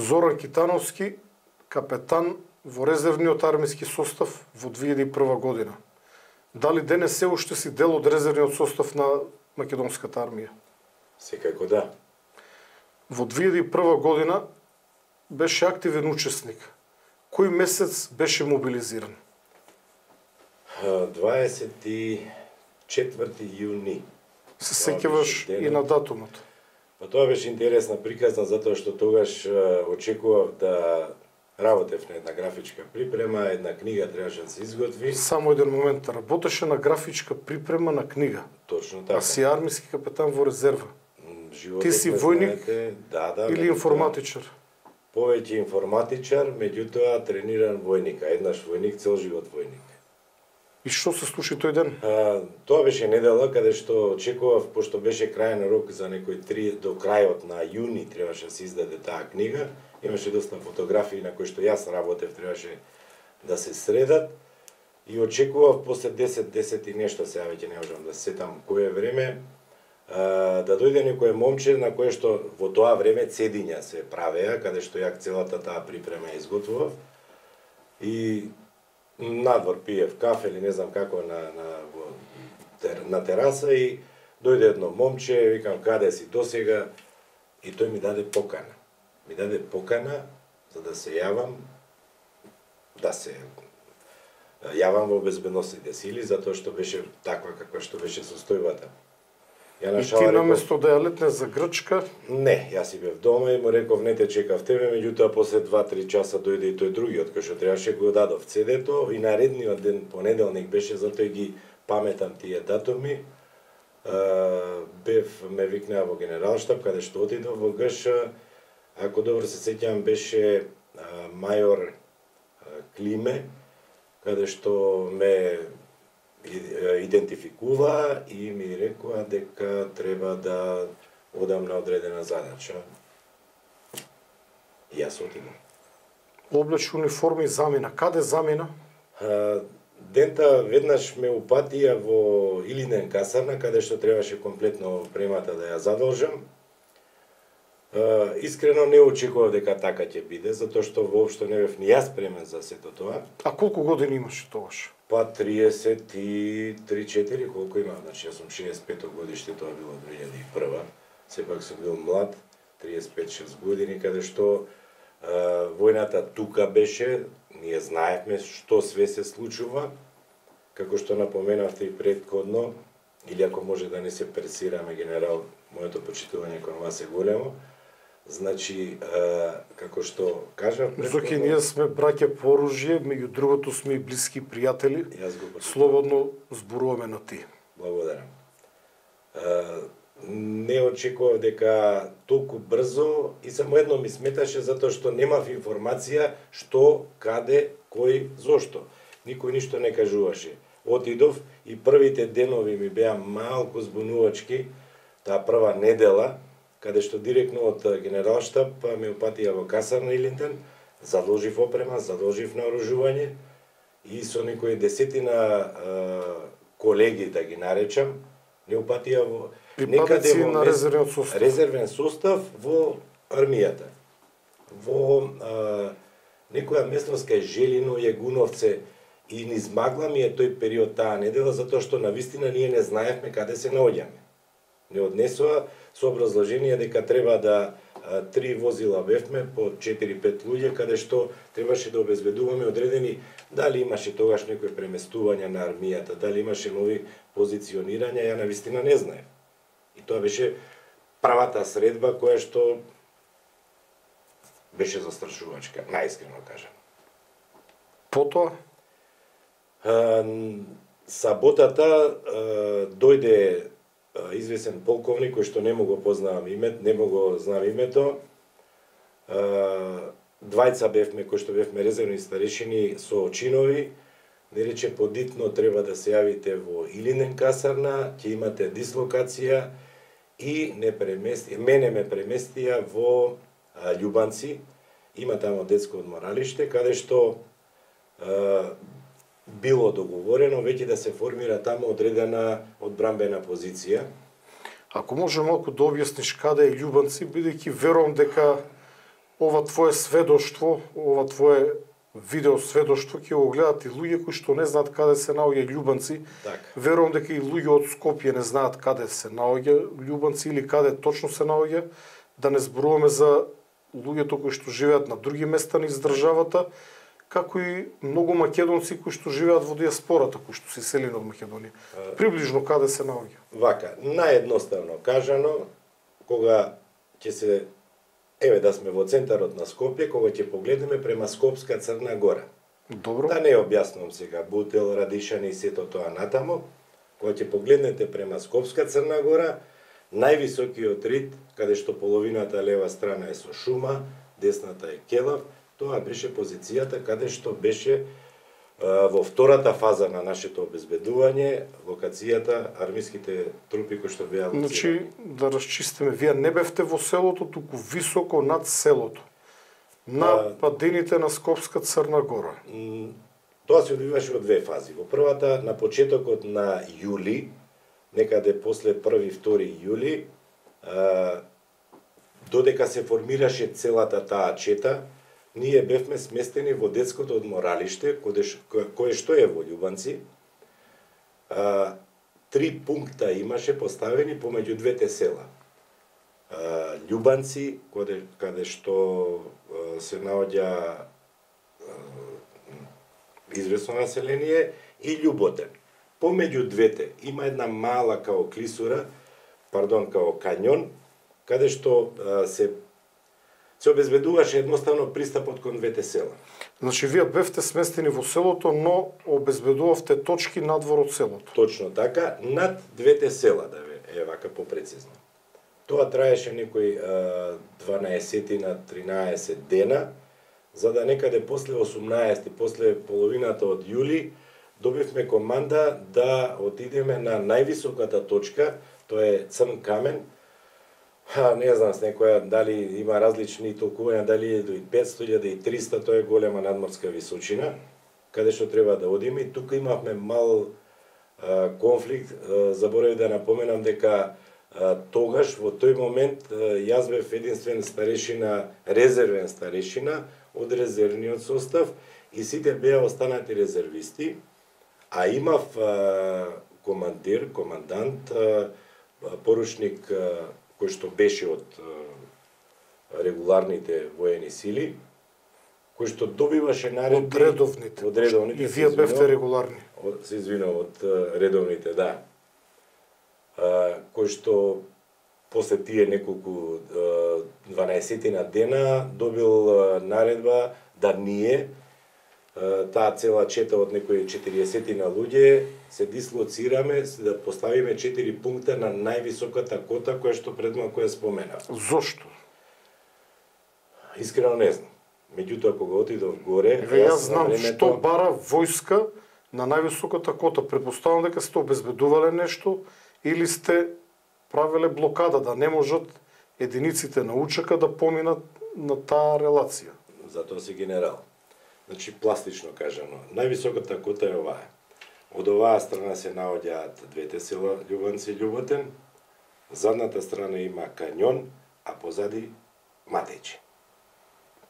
Зоран Китановски, капетан во резервниот армиски состав во 2001 година. Дали денес се уште си дел од резервниот состав на македонската армија? Секако да. Во 2001 година беше активен учесник. Кој месец беше мобилизиран? 24 јуни. Се сеќаваш и на датумот? Па тоа беше интересна приказна, затоа што тогаш очекував да работев на една графичка припрема, една книга требаше да се изготви. Само еден момент, работеше на графичка припрема на книга. Точно така. А си армиски капетан во резерва. Животот, ти си војник или информатичар? Повеќе информатичар, меѓутоа трениран војник, а еднаш војник, цел живот војник. И што се случи тој ден? Тоа беше недела каде што очекував, пошто беше крајен рок за некои 3 до крајот на јуни требаше да се издаде таа книга. Имаше доста фотографии на кои што јас работев, требаше да се средат. И очекував после 10 и нешто, сега веќе не можам да се сетам кое време, да дојде некој момче на кое што во тоа време цедиња се правеа, каде што ја целата таа припрема изготвував. И надвор пиев кафе или не знам како на тераса и дојде едно момче, викам каде си досега, и тој ми даде покана. Ми даде покана за да се јавам, во безбедносните сили, затоа што беше таква каква што беше состојбата. И ти наместо да ја летне за Грчка? Не, јас си бев дома и му реков не те чекав тебе, меѓутоа после 2-3 часа дојде и тој другиот кој што требаше, го дадов CD-то и наредниот ден понеделник беше, затоа ги паметам тие датуми. Ме викнаа во генералштаб каде што отидов во ГШ. Ако добро се сеќавам беше мајор Климе, каде што ме идентификува и ми рекоа дека треба да одам на одредена задача. И јас отидам. Облече униформи замина. Каде замина? Дента веднаш ме упатија во Илинден касарна, каде што требаше комплетно премата да ја задолжам. Искрено не очекував дека така ќе биде, затоа што воопшто не бев ни јас премен за сето тоа. А колку години имаше тогаш? Па 33-4, колку имам, значи јас сум 65 годиште, тоа било 2001. Сепак сум бил млад, 35-6 години, каде што војната тука беше, ние знаевме што све се случува, како што напоменавте и предходно, или ако може да не се пресираме, генерал, моето почитување кон вас е големо. Значи, како што кажав... Зоки, ние сме браќа по оружје, меѓу другото сме и блиски пријатели. Слободно зборуваме на ти. Благодарам. Не очекував дека толку брзо и само едно ми сметаше затоа што немав информација што, каде, кој, зошто. Никој ништо не кажуваше. Отидов и првите денови ми беа малку збунувачки, таа прва недела, каде што директно од генералштаб ме упатија во касарна Илинден, задолжив опрема, задолжив наоружување и со некои десетина колеги, да ги наречам, не упатија во некаде на резервен состав во армијата. Во некоја местност кај Желино, Јагуновце и низ Магла ми е тој период таа недела, затоа што навистина ние не знаевме каде се наоѓаме. Не однесоа со образложение дека треба да 3 возила бевме по 4-5 луѓе, каде што требаше да обезбедуваме одредени, дали имаше тогаш некои преместувања на армијата, дали имаше нови позиционирања, ја навистина не знаев. И тоа беше правата средба која што беше застрашувачка, најискрено кажам. Потоа? Саботата дојде известен полковник кој што не му го познавам името, не му го знам името. Двајца бевме кои што бевме резервни старешини со чинови, не рече подитно треба да се јавите во Илинден касарна, ќе имате дислокација и мене ме преместија во Љубанци, има тамо детско одморалиште, каде што било договорено веќе да се формира тамо одредена одбрамбена позиција. Ако може малку да објасниш каде е Љубанци, бидејќи верувам дека ова твое сведоштво, ова твое видео сведоштво ќе го гледат и луѓе кои што не знаат каде се наоѓа Љубанци. Така. Верувам дека и луѓе од Скопје не знаат каде се наоѓа Љубанци или каде точно се наоѓа, да не зборуваме за луѓето кои што живеат на други места низ државата, како и многу македонци кои што живеат во диаспората, кои што се иселени од Македонија. Приближно каде се наоѓа? Вака, наједноставно кажано, кога ќе се еве да сме во центарот на Скопје, кога ќе погледнеме према Скопска Црна Гора. Добро. Да не објаснувам сега Бутел, Радишани и сето тоа натаму, кога ќе погледнете према Скопска Црна Гора, највисокиот рид, каде што половината лева страна е со шума, десната е келав, тоа беше позицијата каде што беше во втората фаза на нашето обезбедување, локацијата, армиските трупи кои што беа лоцирани. Значи, да расчистиме, вие не бевте во селото, туку високо над селото. На падините на Скопска Црна Гора. Тоа се одвиваше во две фази. Во првата, на почетокот на јули, некаде после 1-2 јули, додека се формираше целата таа чета, ние бевме сместени во детското одморалиште, кое што е во Љубанци. 3 пункта имаше поставени помеѓу двете села. Љубанци, каде што се наоѓа известно население, и Љуботен. Помеѓу двете има една мала као клисура, као канјон, каде што се обезбедуваше едноставно пристапот кон двете села. Значи, вие бевте сместени во селото, но обезбедувавте точки надвор од селото. Точно така, над двете села, да е вака попрецизно. Тоа траеше некои 12-13 дена, за да некаде после 18, после половината од јули, добивме команда да отидеме на највисоката точка, тоа е Црн камен. Не знам с некоја дали има различни толкувања, дали е до 500 и 300, тоа е голема надморска височина, каде што треба да одиме. И тука имавме мал конфликт, заборавив да напоменам дека тогаш, во тој момент, јас бев единствен старешина, резервен старешина од резервниот состав и сите беа останати резервисти, а имав командир, командант, поручник кој што беше од регуларните воени сили, кој што добиваше наредби од редовните. И вие бевте регуларни. Се извинувам, од редовните, да. Кој што после тие неколку 12 дена добил наредба да ние, таа цела чета од некои 40 луѓе, се дислоцираме, да поставиме 4 пункта на највисоката кота која што предмалку ја споменав. Зошто? Искрено не знам. Меѓутоа, кога отидов горе... Јас знам што бара војска на највисоката кота. Предпоставам дека сте обезбедувале нешто или сте правеле блокада, да не можат единиците на УЧК да поминат на таа релација. Затоа си генерал. Значи, пластично кажано, највисоката кота е оваа. Од оваа страна се наоѓаат двете села Љубанци и Љуботен, задната страна има канјон, а позади Матејче.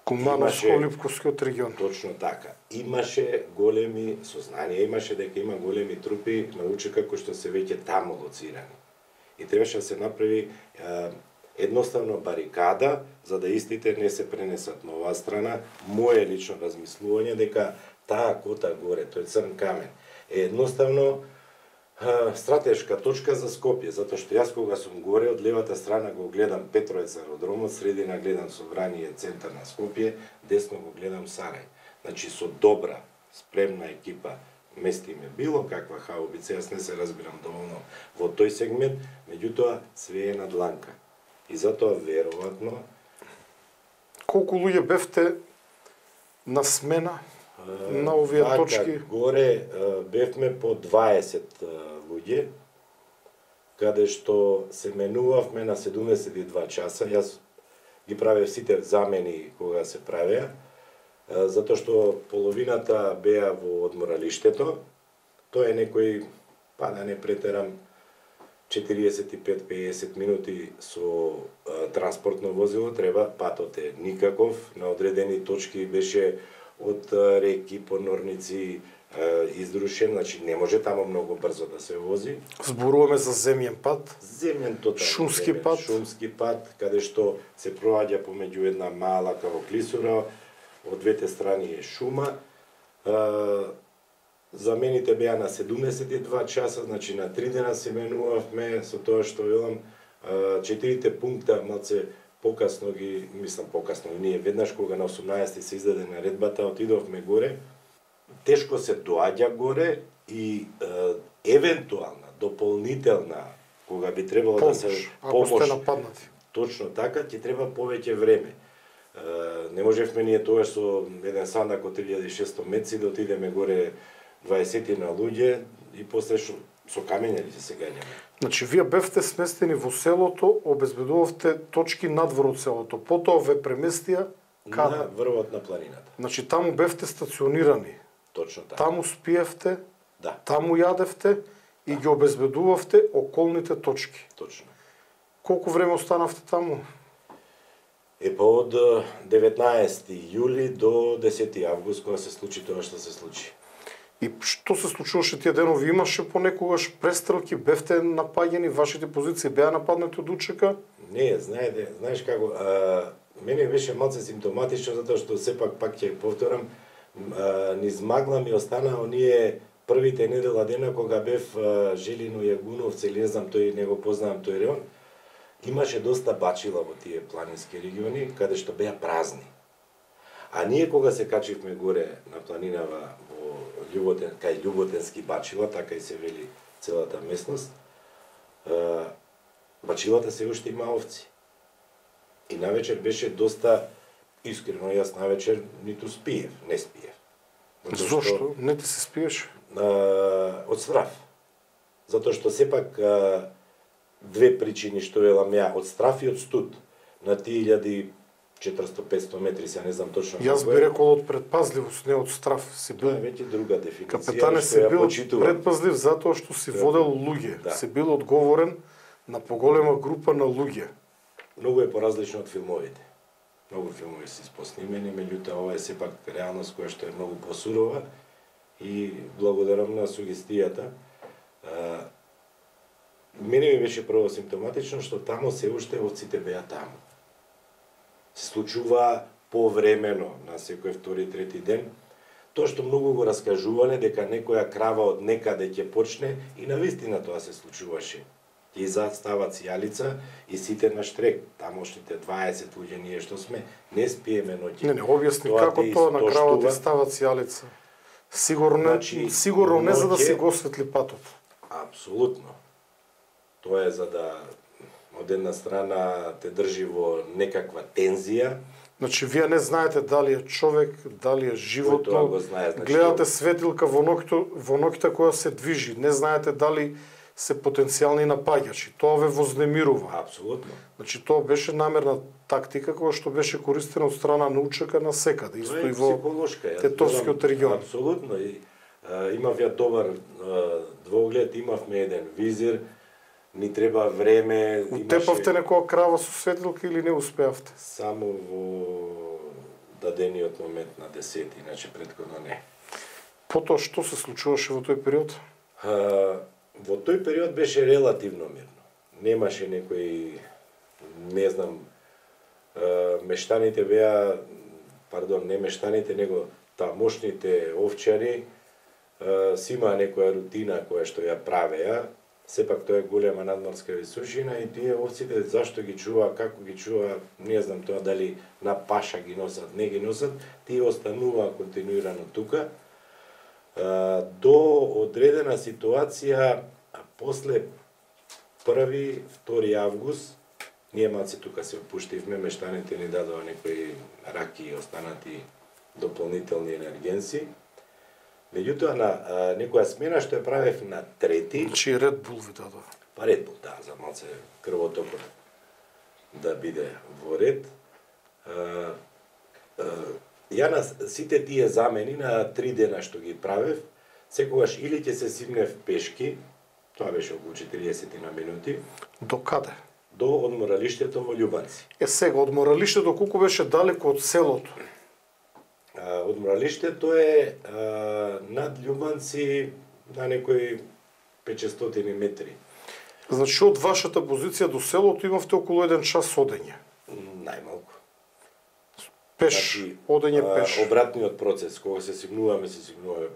Кумановско-Липковскиот регион. Точно така. Имаше големи сознанија, имаше дека има големи трупи на УЧК кои што се веќе таму лоцирани. И требаше да се направи едноставно барикада, за да истите не се пренесат на оваа страна. Моје лично размислување дека таа кота горе, тој Црн камен, е едноставно стратешка точка за Скопје, затоа што јас кога сум горе, од левата страна го гледам Петровец аеродромот, средина гледам Собрание, центар на Скопје, десно го гледам Сарај. Значи со добра, спремна екипа местиме било каква хаубица, јас не се разбирам доволно во тој сегмент, меѓутоа све е на дланка. И затоа веројатно... Колку луѓе бевте на смена на овие точки? Горе бевме по 20 луѓе, каде што се менувавме на 72 часа. Јас ги правев сите замени кога се правеа, затоа што половината беа во одморалиштето. Тоа е некој, па да не претерам, 45-50 минути со транспортно возило, треба, патот е никаков, на одредени точки беше од реки, понорници, изрушен, значи не може тамо многу брзо да се вози. Зборуваме за земјен пат, Земјен тотално. Шумски пат. Шумски пат, каде што се проаѓа помеѓу една мала кавоклисура, од двете страни е шума. Замените беа на 72 часа, значи на 3 дена се менувавме, со тоа што велам, 4 пункта малце покасно ги, мислам покасно, ние веднаш кога на 18 се издаде наредбата, отидовме горе, тешко се доаѓа горе и евентуална, дополнителна, кога би требало да се ако сте нападнати. Точно така, ќе треба повеќе време. Не можевме ние тоа со еден сандак од 3600 метци да отидеме горе 20 на луѓе и после со камењари се гаѓаме. Значи, вие бевте сместени во селото, обезбедувавте точки надвор од селото, потоа ве преместија каде? На врвот на планината. Значи, таму бевте стационирани, Точно така. таму спиевте, Да, таму јадевте и ги обезбедувавте околните точки. точно. Колку време останавте таму? Од 19 јули до 10 август, кога се случи тоа што се случи. И што се случуваше тие денови? Имаше понекогаш престрелки, бевте напаѓани, вашите позиции беа нападнати од УЧК? Не, знаеш како, мене беше малце симптоматично, затоа што сепак пак ќе повторам, низ магла ми остана оние првите недела дена кога бев Желино Јагуновци, или не знам, тој не го познавам тој реон, имаше доста бачила во тие планински региони, каде што беа празни. А ние кога се качивме горе на планинава во Љуботен, кај Љуботенски бачила, така и се вели целата местност, бачилата се уште има овци. И навечер беше доста, искрено, јас навечер ниту спиев, не спиев. Зошто? Не ти се спиеш? Од страв. Затоа што сепак две причини што велам ја, од страв и од студ. На 1400-500 метри, се не знам точно. Јас би рекол од предпазливост, не од страв. Си бил... Тоа е веќе друга дефиниција. Капетане си бил предпазлив затоа што си водел луѓе. Да. Си бил одговорен на поголема група на луѓе. Многу е поразлично од филмовите. Многу филмови се испоснимени, меѓутоа ова е сепак реалност која што е многу посурова и благодарам на сугестијата. Мене ми беше прво симптоматично што тамо се уште овците беа таму. Се случува повремено на секој втори, трети ден. Тоа што многу го раскажувале дека некоја крава од некаде ќе почне и навистина тоа се случуваше. Ќе застава цијалица и сите на штрек, тамошните 20 луѓе ние што сме, не спиеме ноќе. Не, објасни како тоа на крава ти става цијалица. Сигурно, Значи, сигурно не за да ноќе... си го осветли патот. Апсолутно. Тоа е за да од една страна те држи во некаква тензија. Значи, вие не знаете дали е човек, дали е животно. Тоа го знае, значи, гледате светилка во ноќта која се движи. Не знаете дали се потенцијални напаѓачи. Тоа ве вознемирува. Апсолутно. Значи, тоа беше намерна тактика која што беше користена од страна на УЧК на секаде. Исто и во Тетовскиот регион. Апсолутно. И имав ја добар двоглед, имавме еден визир, ни треба време. Утепавте некоја крава со светилка или не успеавте? Само во дадениот момент на 10, иначе претходно не. Потоа што се случуваше во тој период? Во тој период беше релативно мирно. Немаше некои, не знам, мештаните беа, не мештаните, него тамошните овчари си имаа некоја рутина која што ја правеа. Сепак тоа е голема надморска височина и тие овците зашто ги чува, како ги чува, не знам тоа дали на паша ги носат, не ги носат, тие остануваа континуирано тука. До одредена ситуација, после 1-2 август, ние малци тука се опуштивме, мештаните ни дадоа некои раки и останати дополнителни енергенси. Меѓутоа, на некоја смена што ја правев на 3-ти... Значи Red Bull ви дадоа? Па Red Bull, да, за малце крвотокот да биде во ред. Ја на сите тие замени на 3 дена што ги правев, секогаш или ќе се симнев пешки, Тоа беше околу 40 на минути. До каде? До одморалиштето во Љубанци. Сега, одморалиштето колку беше далеко од селото? Одморалиштето е над Љубанци на некои 500 метри. Значи, од вашата позиција до селото имавте околу 1 час одење. Најмалку. Пеш, Значи, одење пеш. Обратниот процес, кога се сигнуваме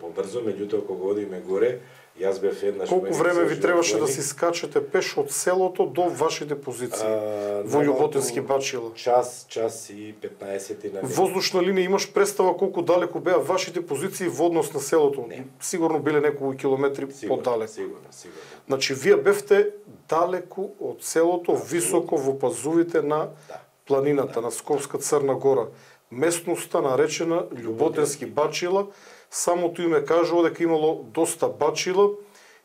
побрзо, меѓутоа кога одиме горе, јас бев еднаш... Колку време ви требаше да си скачате пеш од селото до вашите позиции во Љуботински Бачила? Час и 15 на минути. Воздушна линија имаш представа колку далеко беа вашите позиции во однос на селото? Не. Сигурно биле неколку километри подалеку. Сигурно. Значи, вие бевте далеку од селото, високо во пазувите на планината, на Скопска Црна Гора. Местноста наречена Љуботински Бачила. Самото име кажува дека имало доста бачила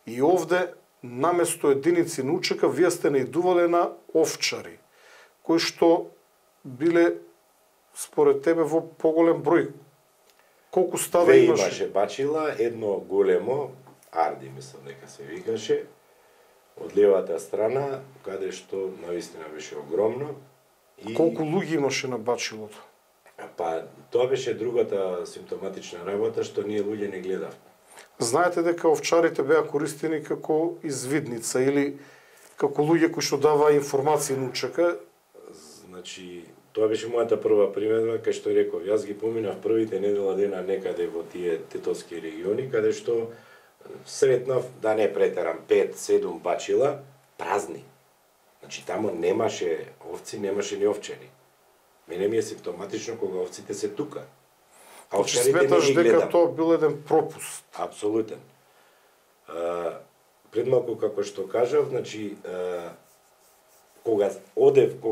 и овде наместо единици на учека вие сте наидувале на овчари, кои што биле според тебе во поголем број. Колку стада имаше? Имаше бачила, едно големо, Арди мислам дека се викаше, од левата страна, каде што навистина беше огромно. И... Колку луѓе имаше на бачилото? Па, тоа беше другата симптоматична работа, што ние луѓе не гледавме. Знаете дека овчарите беа користени како извидница или како луѓе кои што даваа информации на учека? Значи, тоа беше мојата прва примедба, кај што реков, јас ги поминав првите недела дена некаде во тие тетовски региони, каде што сретнав, да не претерам, 5-7 бачила празни. Значи, тамо немаше овци, немаше ни овчари. Мене ми е симптоматично кога овците се тука. А овчарите не ги гледам. Дека тоа бил еден пропуст. Апсолутен. Предмалку како што кажав, значи кога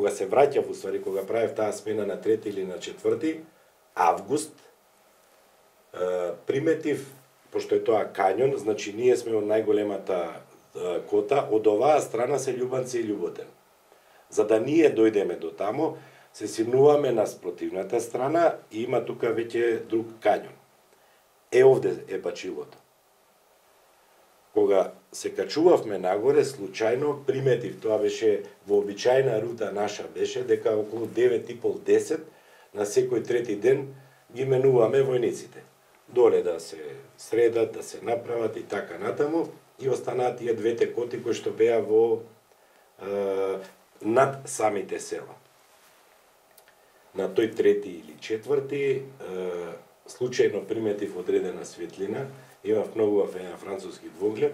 се враќав, уствари кога правев таа смена на 3 или на 4 август, приметив, пошто е тоа кањон, значи ние сме од најголемата кота, од оваа страна се Љубанци и Љуботен. За да ние дојдеме до тамо, се симнуваме на спротивната страна и има тука веќе друг кањон. Овде е бачилото. Кога се качувавме нагоре, случајно приметив, тоа беше вообичајна рута наша, беше дека околу 9:30-10 на секој трети ден ги менуваме војниците. Доле да се средат, да се направат и така натаму, и останаат тие двете коти кои што беа во над самите села. На тој 3 или 4 случајно приметив одредена светлина, имав многу еден француски двоглед,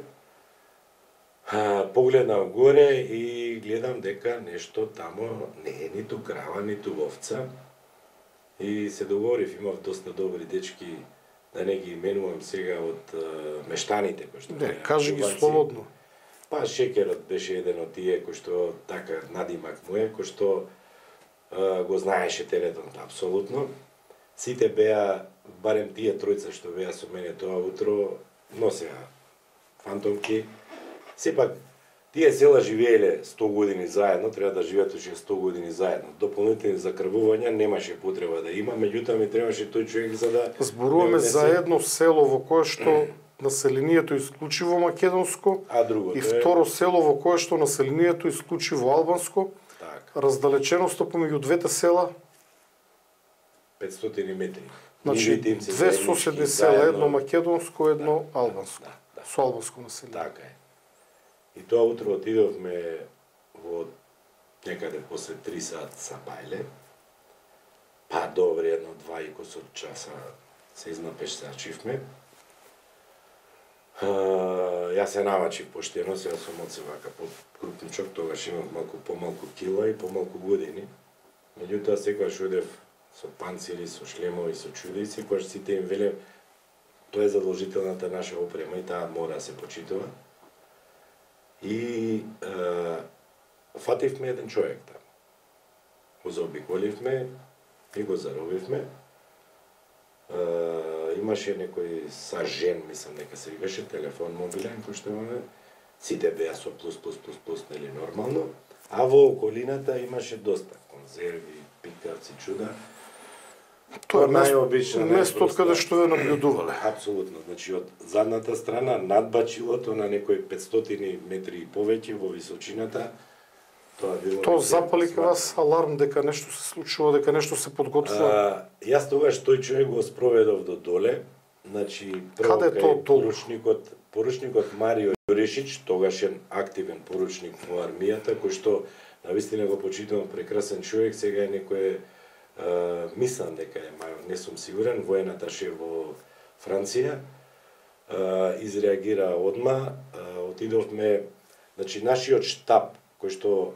погледнав горе и гледам дека нешто тамо не е ниту крава, ниту овца. И се договорив, имав доста добри дечки, да не ги именувам сега од мештаните кои што Не, кажи ги слободно. Па Шекерот беше еден од тие кои што така надимак му е, кој што го знаеше теренот апсолутно. Сите беа, барем тие тројца што беа со мене тоа утро, носеа фантомки. Сепак, тие села живееле 100 години заедно, треба да живеат уште 100 години заедно. Дополнителни закрвувања немаше потреба да има, меѓутоа ми требаше тој човек за да... Зборуваме за едно село во кое што населението исклучиво македонско, а другото и второ село во кое што населението исклучиво албанско. Раздалеченоста помеѓу двете села 500 метри. Значи, две соседни села, едно македонско, едно албанско. Со албанско население. Така е. И тоа утро отидовме во некаде после 3 сат са бајле. Па добре, едно 2,5 часа се изнапештачивме. Јас се намачив поштено, сега сум од се вака крупничок, тогаш имав малку помалку кила и помалку години. Меѓутоа секогаш одев со панцири, со шлемови, со чудици, кои сите им веле тоа е задолжителната наша опрема и таа мора да се почитува. И фативме еден човек таму. Го заобиколивме и го заробивме. Имаше некој сажен, мислам дека се викаше, телефон мобилен, кој што имаме. Сите беа со плюс, нели нормално. А во околината имаше доста конзерви, пикавци, чуда. Тоа е најобична место од каде што ве наблюдувале. Апсолутно. Значи од задната страна над бачилото на некои 500 метри и повеќе во височината. Тоа запали кај вас аларм дека нешто се случува, дека нешто се подготвува? Јас тогаш тој човек го спроведов до доле. Значи прво кај поручникот Марио Јурешич, тогашен активен поручник во армијата, кој што навистина го почитувам прекрасен човек, сега е некој мислам дека е мајор, не сум сигурен, воен аташе во Франција, изреагира одма, отидовме, значи нашиот штаб, кој што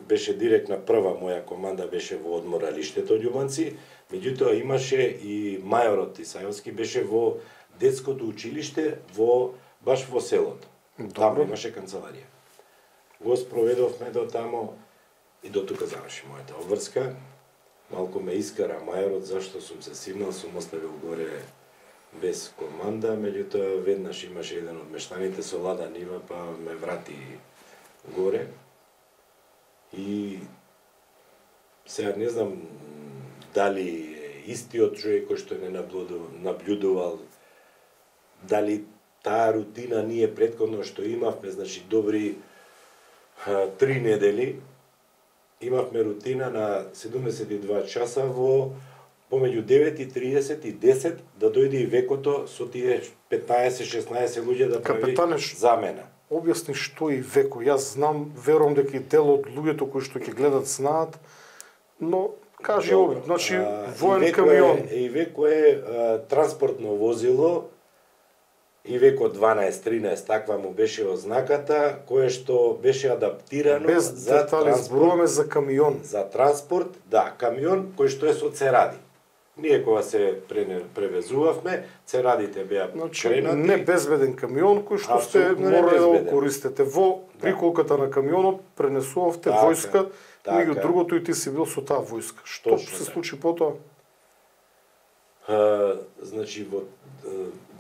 беше директна прва моја команда, беше во одморалиштето Љубанци, меѓутоа имаше и мајорот Исајовски беше во детското училиште баш во селото. Таму имаше канцеларија. Го спроведовме до тамо и до тука заврши мојата обврска. Малку ме искара мајорот зашто сум се симнал, сум оставил горе без команда, меѓутоа веднаш имаше еден од мештаните со лада нива, па ме врати горе. И сега не знам дали е истиот човек кој што не наблюдувал, дали таа рутина ние претходно што имавме, значи добри 3 недели, имавме рутина на 72 часа во помеѓу 9:30 и 10 да дојде и векото со тие 15-16 луѓе да прави замена. Објасни што и веко. Јас знам, верувам дека и дел од луѓето кои што ќе гледат знаат, но кажи обид, значи воен камион. И веко е транспортно возило, и веко 12-13, таква му беше ознаката, кое што беше адаптирано без за детали, зборуваме за камион. За транспорт, да, камион кој што е со церади. Ние кога се превезувавме, церадите беа кренати. Не безбеден камион кој што сте морале да го користите. Во приколката на камионот пренесувавте војска, меѓу другото и ти си бил со таа војска. Што се случи потоа? Значи во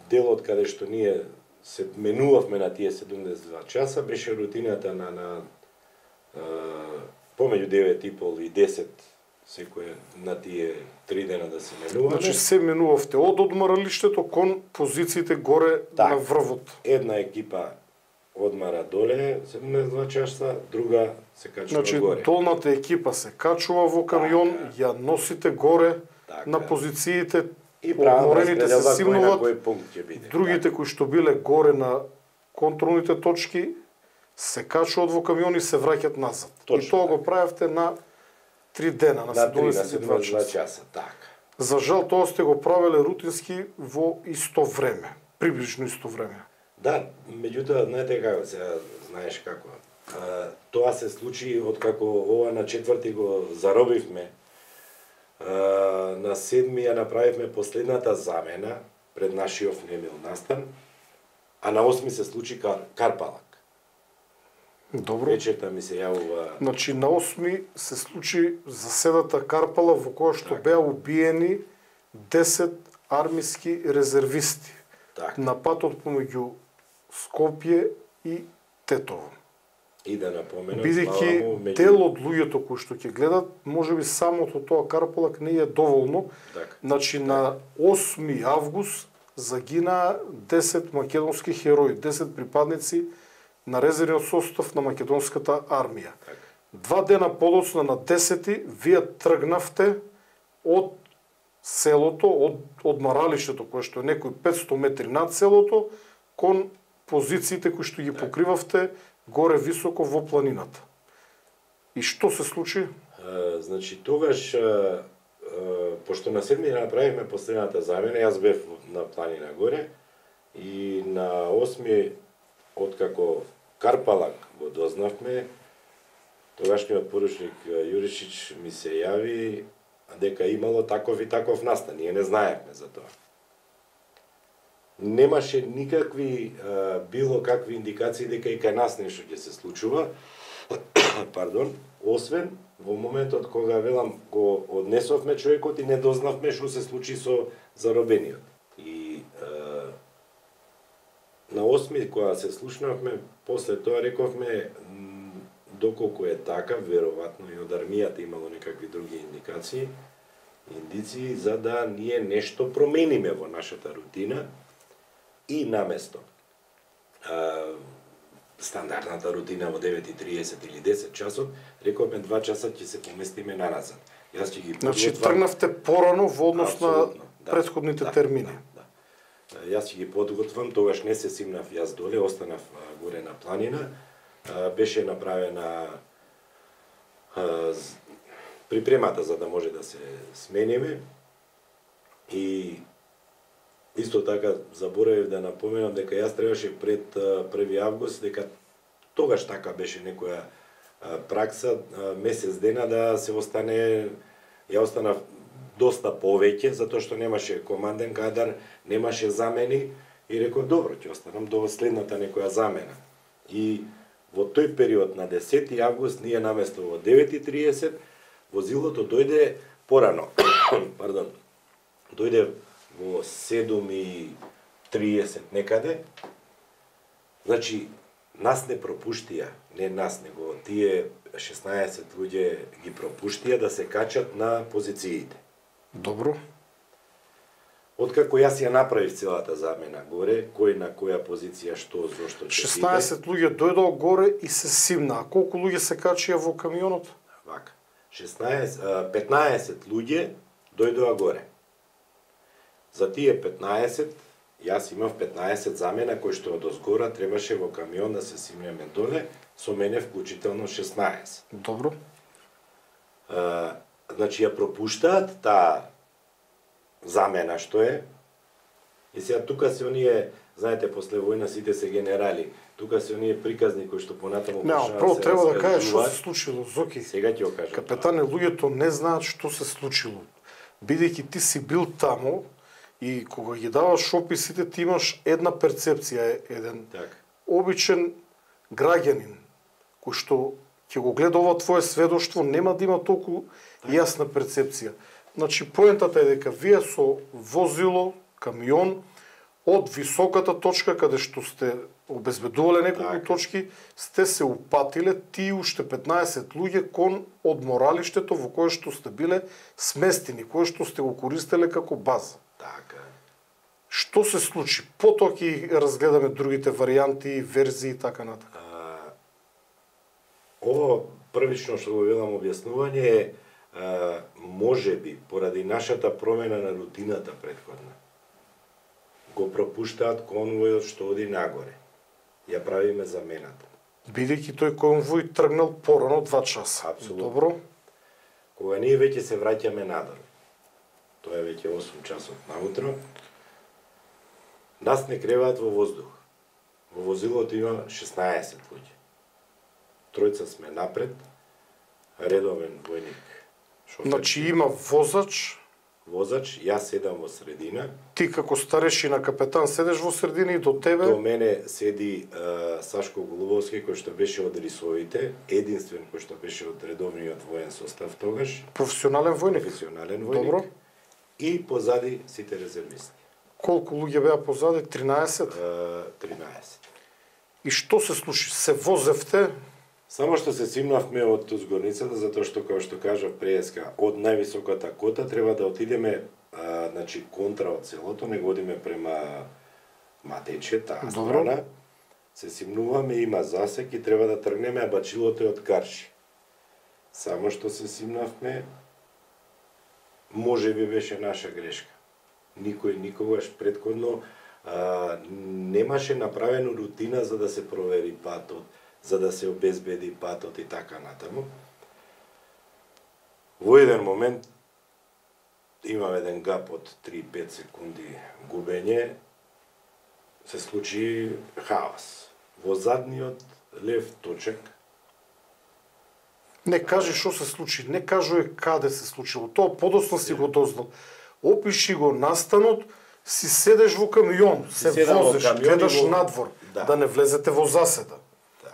делот каде што ние се менувавме на тие 72 часа беше рутината на помеѓу 9:30 и 10 секој на тие 3 дена да се менуваме. Значи се менувавте од одморалиштето кон позициите горе на врвот. Една екипа одмара доле 72 часа, друга се качува горе. Значи долната екипа се качува во камион, ја носите горе на позициите, и одморените се симнуваат, биде. Другите кои што биле горе на контролните точки се качуваат во камион и се враќаат назад. И тоа го правевте на 3 дена, на 72 часа. Така. За жал тоа сте го правеле рутински во исто време, приближно исто време. Да, меѓутоа, знаете како, сега знаеш како. Тоа се случи откако ова на 4 го заробивме. На 7 ја направивме последната замена пред нашиот немил настан, а на 8 се случи Карпалак. Добро. Вечерта ми се јавува... Значи, на 8 се случи заседата Карпала во која што беа убиени 10 армиски резервисти на патот помеѓу Скопје и Тетово. И да напоменам, бидејќи дел од луѓето кои што ќе гледат, можеби самото тоа Карпалак не е доволно. Значи, на 8 август загинаа 10 македонски херои, 10 припадници на резервниот состав на македонската армија. 2 дена подоцна на 10-ти, вие тргнавте од селото, од одмаралиштето, кое што е некои 500 метри над селото, кон позициите кои што ги покривавте горе високо во планината. И што се случи? Значи, тогаш, пошто на 7 направивме последната замена, јас бев на планина горе, и на 8 откако Карпалак го дознавме, тогашниот поручник Јуришич ми се јави дека имало таков и таков настан. Ние не знаевме за тоа. Немаше никакви, било какви индикации дека и кај нас нешто ќе се случува, пардон, освен во моментот кога, велам, го однесовме човекот и не дознавме што се случи со заробениот. И на 8 кога се слушнавме, после тоа рековме, доколку е така, веројатно и од армијата имало некакви други индикации, индици за да ние нешто промениме во нашата рутина и наместо стандардната рутина во 9:30 или 10 часот, рековме 2 часа ќе се поместиме наназад. Јас ќе ги подготвам. Значи тргнавте порано во однос на претходните термини. Да. Јас ќе ги подготвам, тогаш не се симнав јас доле, останав горе на планина. Беше направена припремата за да може да се смениме и исто така заборавив да напоменам дека јас требаше пред 1 август, дека тогаш така беше некоја пракса, месец дена да се остане, ја останав доста повеќе, затоа што немаше команден кадар, немаше замени и реков добро, ќе останам до следната некоја замена. И во тој период на 10 август ние наместо во 9:30 возилото дојде порано. Пардон. Дојде во 7:30 некаде. Значи нас не пропуштија, не нас, него тие 16 луѓе ги пропуштија да се качат на позициите. Добро. Откако јас ја направив целата замена горе, кој на која позиција, што, зошто ќе 16 луѓе дојдоа горе и се симна. А колку луѓе се качија во камионот? Вака. 15 луѓе дојдоа горе. За тие 15, јас имав 15 замена кои што од озгора требаше во камион да се симнеме доле, со мене вклучително 16. Добро. Значи ја пропуштаат таа замена што е. И сега тука се оние, знаете, после војна сите се генерали. Тука се оние приказни кои што понатаму почнаа. Прво треба да кажеш што се случило, Зоки. Сега ќе го кажам. Капетане, луѓето не знаат што се случило. Бидејќи ти си бил таму и кога ги даваш описите, ти имаш една перцепција, еден обичен граѓанин кој што ќе го гледа ова твое сведоштво, нема да има толку јасна перцепција. Значи, поентата е дека вие со возило, камион, од високата точка каде што сте обезбедувале неколку точки, сте се упатиле ти уште 15 луѓе кон одморалиштето во кое што сте биле сместени, кое што сте го користеле како база. Така. Што се случи? Потоа ќе разгледаме другите варијанти, верзии и така натака. Ово првично што го велам објаснување е можеби поради нашата промена на рутината претходна. Го пропуштаат конвојот што оди нагоре. Ја правиме замената. Бидејќи тој конвој тргнал порано 2 часа. Апсолутно. Добро. Кога ние веќе се враќаме надолу, тоа е веќе 8 часот наутро, нас не креваат во воздух. Во возилото има 16 луѓе. Тројца сме напред, редовен војник. Значи има возач, јас седам во средина. Ти како старешина капетан седеш во средина и до тебе? До мене седи Сашко Голубовски, кој што беше од рисовите, единствен кој што беше од редовниот воен состав тогаш. Професионален војник? Професионален војник. Добро. И позади сите резервисти. Колку луѓе беа позади? 13? 13. И што се случи? Се возевте? Само што се симнавме од згорницата, затоа што, како што кажав преска, од највисоката кота треба да отидеме, значи, контра од селото, не годиме према Матече, таа страна. Се симнуваме, има засек и треба да тргнеме, а бачилото е од Карши. Само што се симнавме, може би беше наша грешка. Никој никогаш претходно немаше направено рутина за да се провери патот, за да се обезбеди патот и така натаму. Во еден момент имам еден гап од 3-5 секунди губење, се случи хаос. Во задниот лев точек. Не кажи што се случи, не кажуе каде се случило. Тоа подоцна си го дознал. Опиши го настанот, си седеш во камион, се возиш, гледаш надвор, да не влезете во заседа.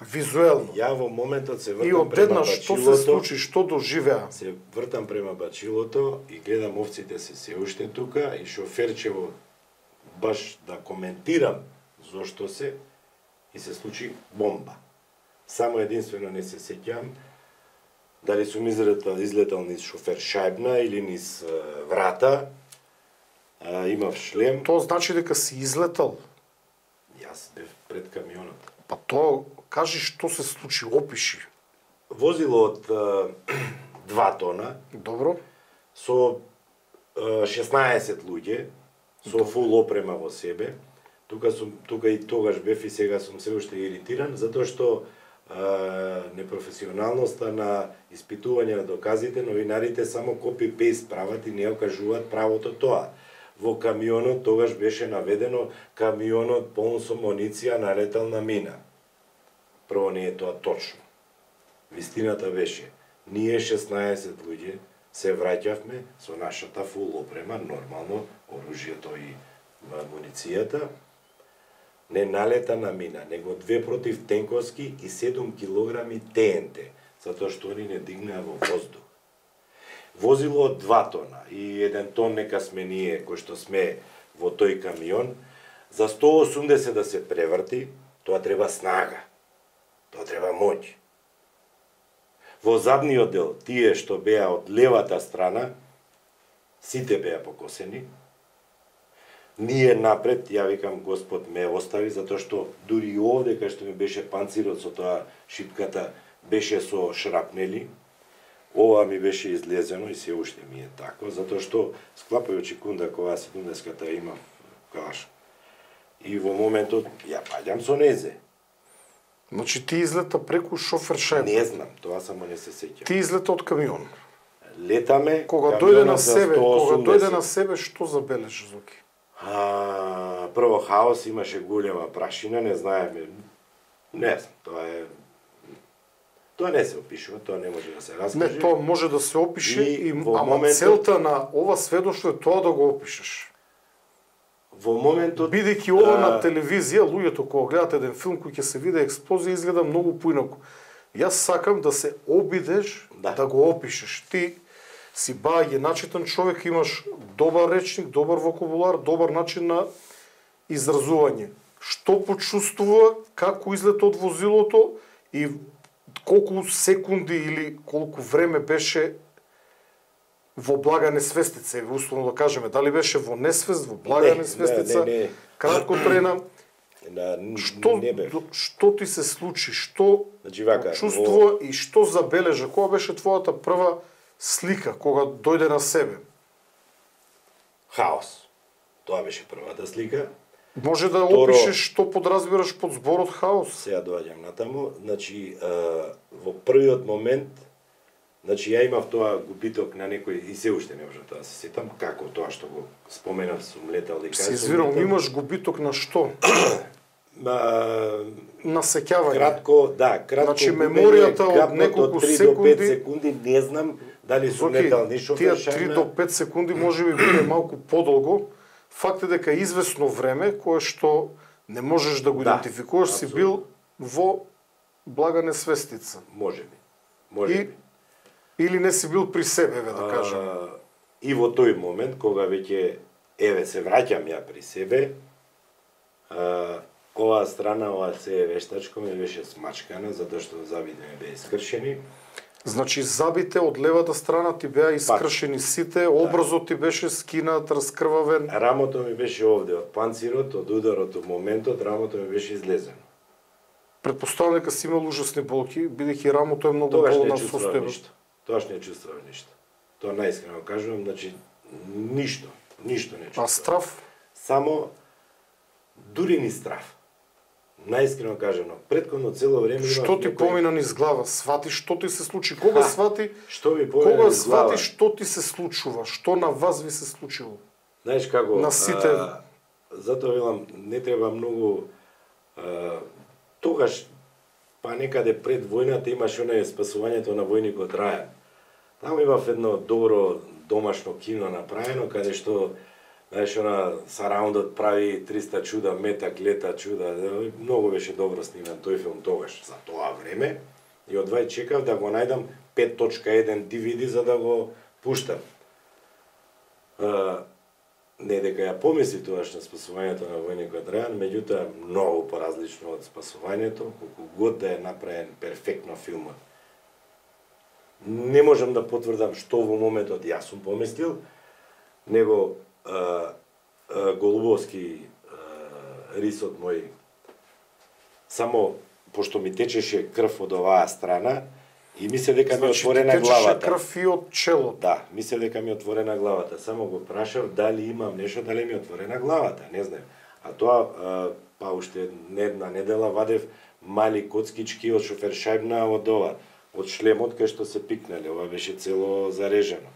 Визуелно. Ја во моментот се вртам и одеднаш што се случи, што доживеа? Се вртам према бачилото и гледам овците се уште тука и шоферчево баш да коментирам зошто се и се случи бомба. Само единствено не се сеќам Дали сум излетал низ шофер шајбна или низ врата, имав шлем. Тоа значи дека си излетал. Јас бев пред камионот. Па тоа, кажи што се случи, опиши. Возило од 2 тона. Добро. Со 16 луѓе, со фул опрема во себе. Тука и тогаш бев и сега сум се уште иритиран, затоа што непрофесионалноста на испитување на доказите, новинарите само копи-пейст прават и не окажуваат правото тоа. Во камионот тогаш беше наведено камионот полн со муниција налетал на мина. Прво не е тоа точно. Вистината беше, ние 16 луѓе се враќавме со нашата фул опрема, нормално, оружјето и муницијата, не налета на мина, него 2 противтенковски и 7 килограми ТНТ, затоа што они не дигнаа во воздух. Возило од 2 тона и 1 тон нека сме ние, кои што сме во тој камион, за 180 да се преврти, тоа треба снага, тоа треба моќ. Во задниот дел, тие што беа од левата страна, сите беа покосени. Ние напред, ја викам, Господ ме остави, затоа што дури и овде, кај што ми беше панцирот со тоа шипката, беше со шрапнели. Ова ми беше излезено и се уште ми е тако, затоа што склапајучи кунда кога 70-ката имав калаш. И во моментот ја паѓам со незе. Значи ти излета преку шофер шајб. Не знам, тоа само не се сеќам. Ти излета од камион. Летаме, кога дојде на себе, што забележи, Зоки? Прво хаос, имаше голема прашина, не знаеме, не знам, тоа не се опишува, тоа не може да се раскаже. Не, тоа може да се опише, ама целта на ова сведоштво е тоа да го опишеш. Во моментот... Бидејќи ова на телевизија, луѓето кога гледат еден филм кој ќе се види експлозија, изгледа многу поинаку. Јас сакам да се обидеш да го опишеш. Ти си баѓе начитан човек, имаш добар речник, добар вокабулар, добар начин на изразување. Што почувствува, како излета од возилото и колку секунди или колку време беше во блага несвестица, условно да кажеме, дали беше во несвест, во блага несвестица, кратко трена. Што ти се случи, што чувствува и што забележа, кога беше твојата прва слика, кога дојде на себе? Хаос. Тоа беше првата слика. Може да опишеш што подразбираш под зборот хаос? Сега доаѓам натаму. Значи, во првиот момент, значи ја имав тоа губиток на некој, и се уште не можам да се сетам, како тоа што го споменав, сум летал и кај. Се извирам, имаш губиток на што? На сеќавање. Кратко, значи меморијата од неколку секунди. 3 до 5 секунди, не знам дали сум летал ни шофер шајбна. Тие 3 до 5 секунди може би биде малку подолго. Факт е дека извесно време, кое што не можеш да го идентификуваш, си бил во блага несвестица. Може би. Или не си бил при себе, да кажем. И во тој момент, кога веќе, се враќам ја при себе, оваа страна, ова се вештачко ми беше смачкана, затоа што забите ми беа искршени. Значи, забите од левата страна ти беа искршени сите, образот ти беше скинат, раскрвавен. Рамото ми беше овде, од панцирот, од ударот, од моментот, рамото ми беше излезено. Предпоставам дека си имал ужасни болки, бидејќи рамото е многу болна состојба. Тогаш не чувствував ништо. Тоа најискрено кажувам, значи, ништо не чувствував. А страв? Само, дури ни страв. Најискрено кажано, претходно цело време што ти помина низ глава? Свати што ти се случи? Кога свати? Што ми помина низ глава? Кога свати што ти се случува? Што на вас ви се случило? Знаеш како? На сите. Затоа велам, не треба многу. Тогаш, па некаде пред војната имаше онај спасувањето на војникот Рајан. Таму имав едно добро домашно кино направено, каде што знаеш, сараундот прави 300 чуда, метак, лета чуда. Многу беше добро сниман тој филм тогаш, за тоа време. И одвај чекав да го најдам 5.1 DVD за да го пуштам. Не дека ја помисли тогаш на спасувањето на војникот Рајан, меѓутоа многу поразлично од спасувањето, колку год да е направен перфектно филмот. Не можам да потврдам што во моментот јас сум поместил, него Голубовски рисот мој, само пошто ми течеше крв од оваа страна, и мислев дека ми отворена главата. Течеше крв и од челото. Да, мислев дека ми отворена главата. Само го прашав дали имам нешто, дали ми отворена главата, не знам. А тоа, па уште една недела вадев мали коцкички од шофершајбна од ова, од шлемот кај што се пикнале, ова беше цело зарежано.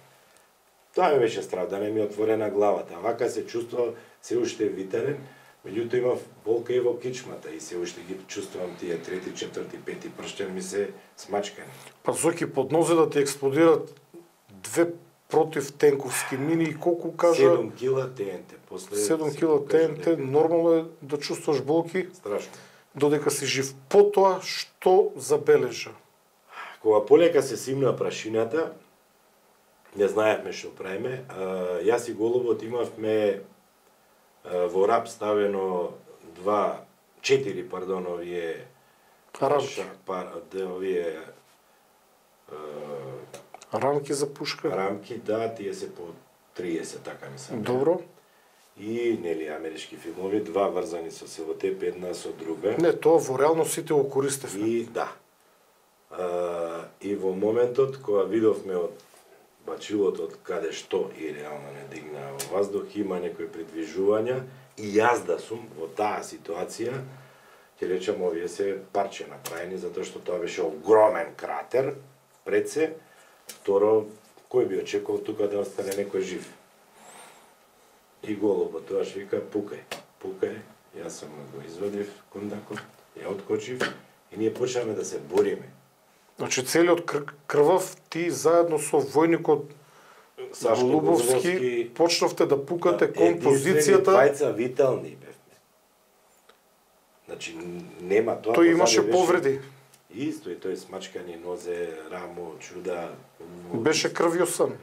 Тоа ми беше страв, да не ми отворена главата. Вака се чувствував се уште витарен, меѓутоа имав болка и во кичмата и се уште ги чувствувам тие трети, четврти, пети прштен ми се смачкани. Па Зоки, под нозе да ти експлодират 2 противтенковски мини и колку кажа... 7 кила ТНТ. После 7 кила ТНТ, нормално е да чувствуваш болки. Страшно. Додека си жив. Потоа, што забележа? Кога полека се симна прашината, не знаевме што правиме, јас и Голубот имавме во рап ставено 4 овие рамки. Овие Рамки за пушка? Рамки, да, тие се по 30, така мислам. Добро. И, нели, амерички филмови, 2 врзани со селотеп, една со друга. Не, тоа во реално сите го користевме. И, да. И во моментот, кога видовме од бачилото од каде што и реално не дигна во воздух, има некои придвижувања, и јас да сум во таа ситуација, ќе речам, овие се парче направени, затоа што тоа беше огромен кратер пред се. Второ, кој би очекувал тука да остане некој жив? И Голубот тоа што вика, пукај, пукај, јас сам го извадив кондакот, ја откочив и ние почнавме да се бориме. Значи целиот крвав ти заедно со војникот Голубовски почнавте да пукате кон позицијата. Двајца витални бевме. Значи нема тоа. Тој имаше повреди. Исто и тој смачкани нозе, рамо, чуда. Беше крвјосан.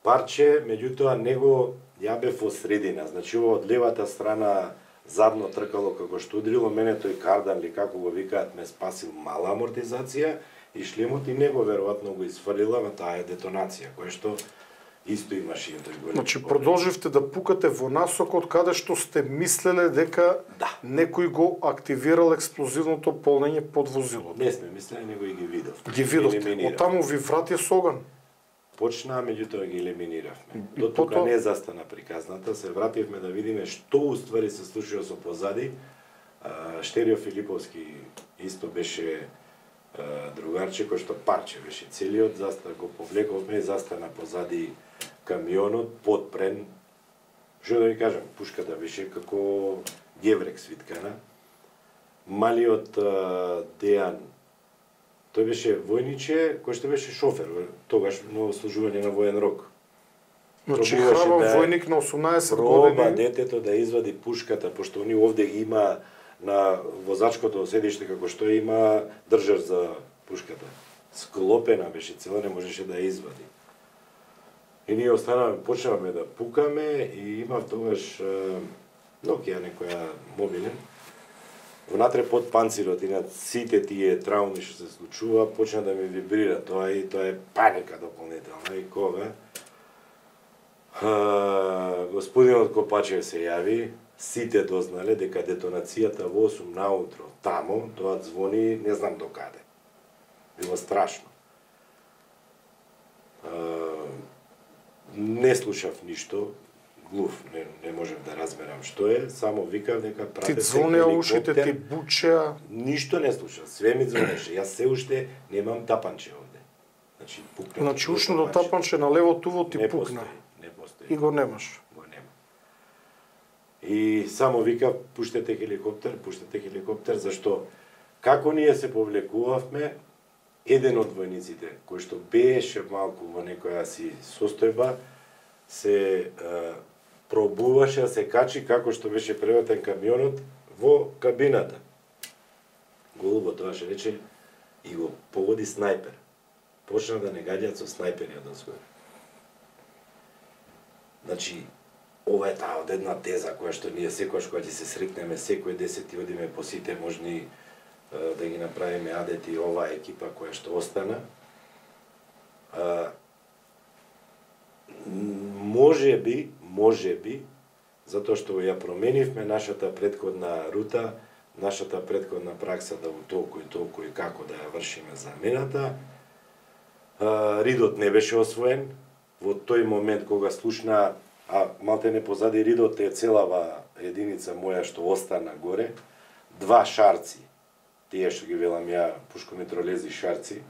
Парче, меѓутоа него ја бев во средина. Значи ова од левата страна задно тркало како што удрило мене, тој кардан ли како го викаат ме спасил, мала амортизација и шлемот и него веројатно го изфрлила на таа детонација, која што исто имаше и тој голем. Значи продолживте да пукате во насокот каде што сте мислеле дека некој го активирал експлозивното полнење под возилото. Не сме мислеле, него и ги видовте. Ги видовте. Од таму ви врати со оган. Почнаа, меѓутоа ги елиминиравме. До тука не застана приказната, се вративме да видиме што уствари се случува со позади. Штерио Филиповски исто беше другарче кој што парче беше целиот, го повлековме, застана позади камионот, подпрен. Што да ви кажам, пушката беше како геврек свиткана. Малиот Дејан, тој беше војниче кој што беше шофер, тогаш на служување на воен рок. Значи храбар војник на 18 години. Проба детето да извади пушката, пошто они овде ги има на возачкото седиште како што има држар за пушката. Склопена беше цела, не можеше да ја извади. И ние останавме, почнавме да пукаме и имав тогаш Nokia некоја мобилен. Внатре под панцирот и над сите тие трауми што се случува, почна да ми вибрира тоа и тоа е паника дополнителна. И кога господинот Копачев се јави, сите дознале дека детонацијата во 8 наутро тамо, тоа звони не знам до каде. Било страшно. Не слушав ништо, глув, не можев да разберам што е, само викав дека пратете ти ушите, ти бучеа. Ништо не слушав, све ми звонеше. Јас се уште немам тапанче овде. Значи пукна. Значи ушното тапанче на лево туво ти не пукна. Не постои. И го немаш. Го нема. И само вика пуштете хеликоптер, зашто како ние се повлекувавме, еден од војниците кој што беше малку во некоја си состојба се пробуваше да се качи како што беше преватен камионот во кабината. Голубот тоа ше рече и го погоди снајпер. Почна да не гаѓаат со снајпери од озгоре. Значи, ова е таа од една теза која што ние секојаш кога ќе се срекнеме секој 10 и одиме по сите можни да ги направиме адети оваа екипа која што остана. Може би, затоа што ја променивме нашата претходна рута, нашата претходна пракса да толку и како да ја вршиме замената. Ридот не беше освоен. Во тој момент кога слушна, а малте не позади ридот е целава единица моја што остана горе, 2 шарци, тие што ги велам ја пушкометролези шарци,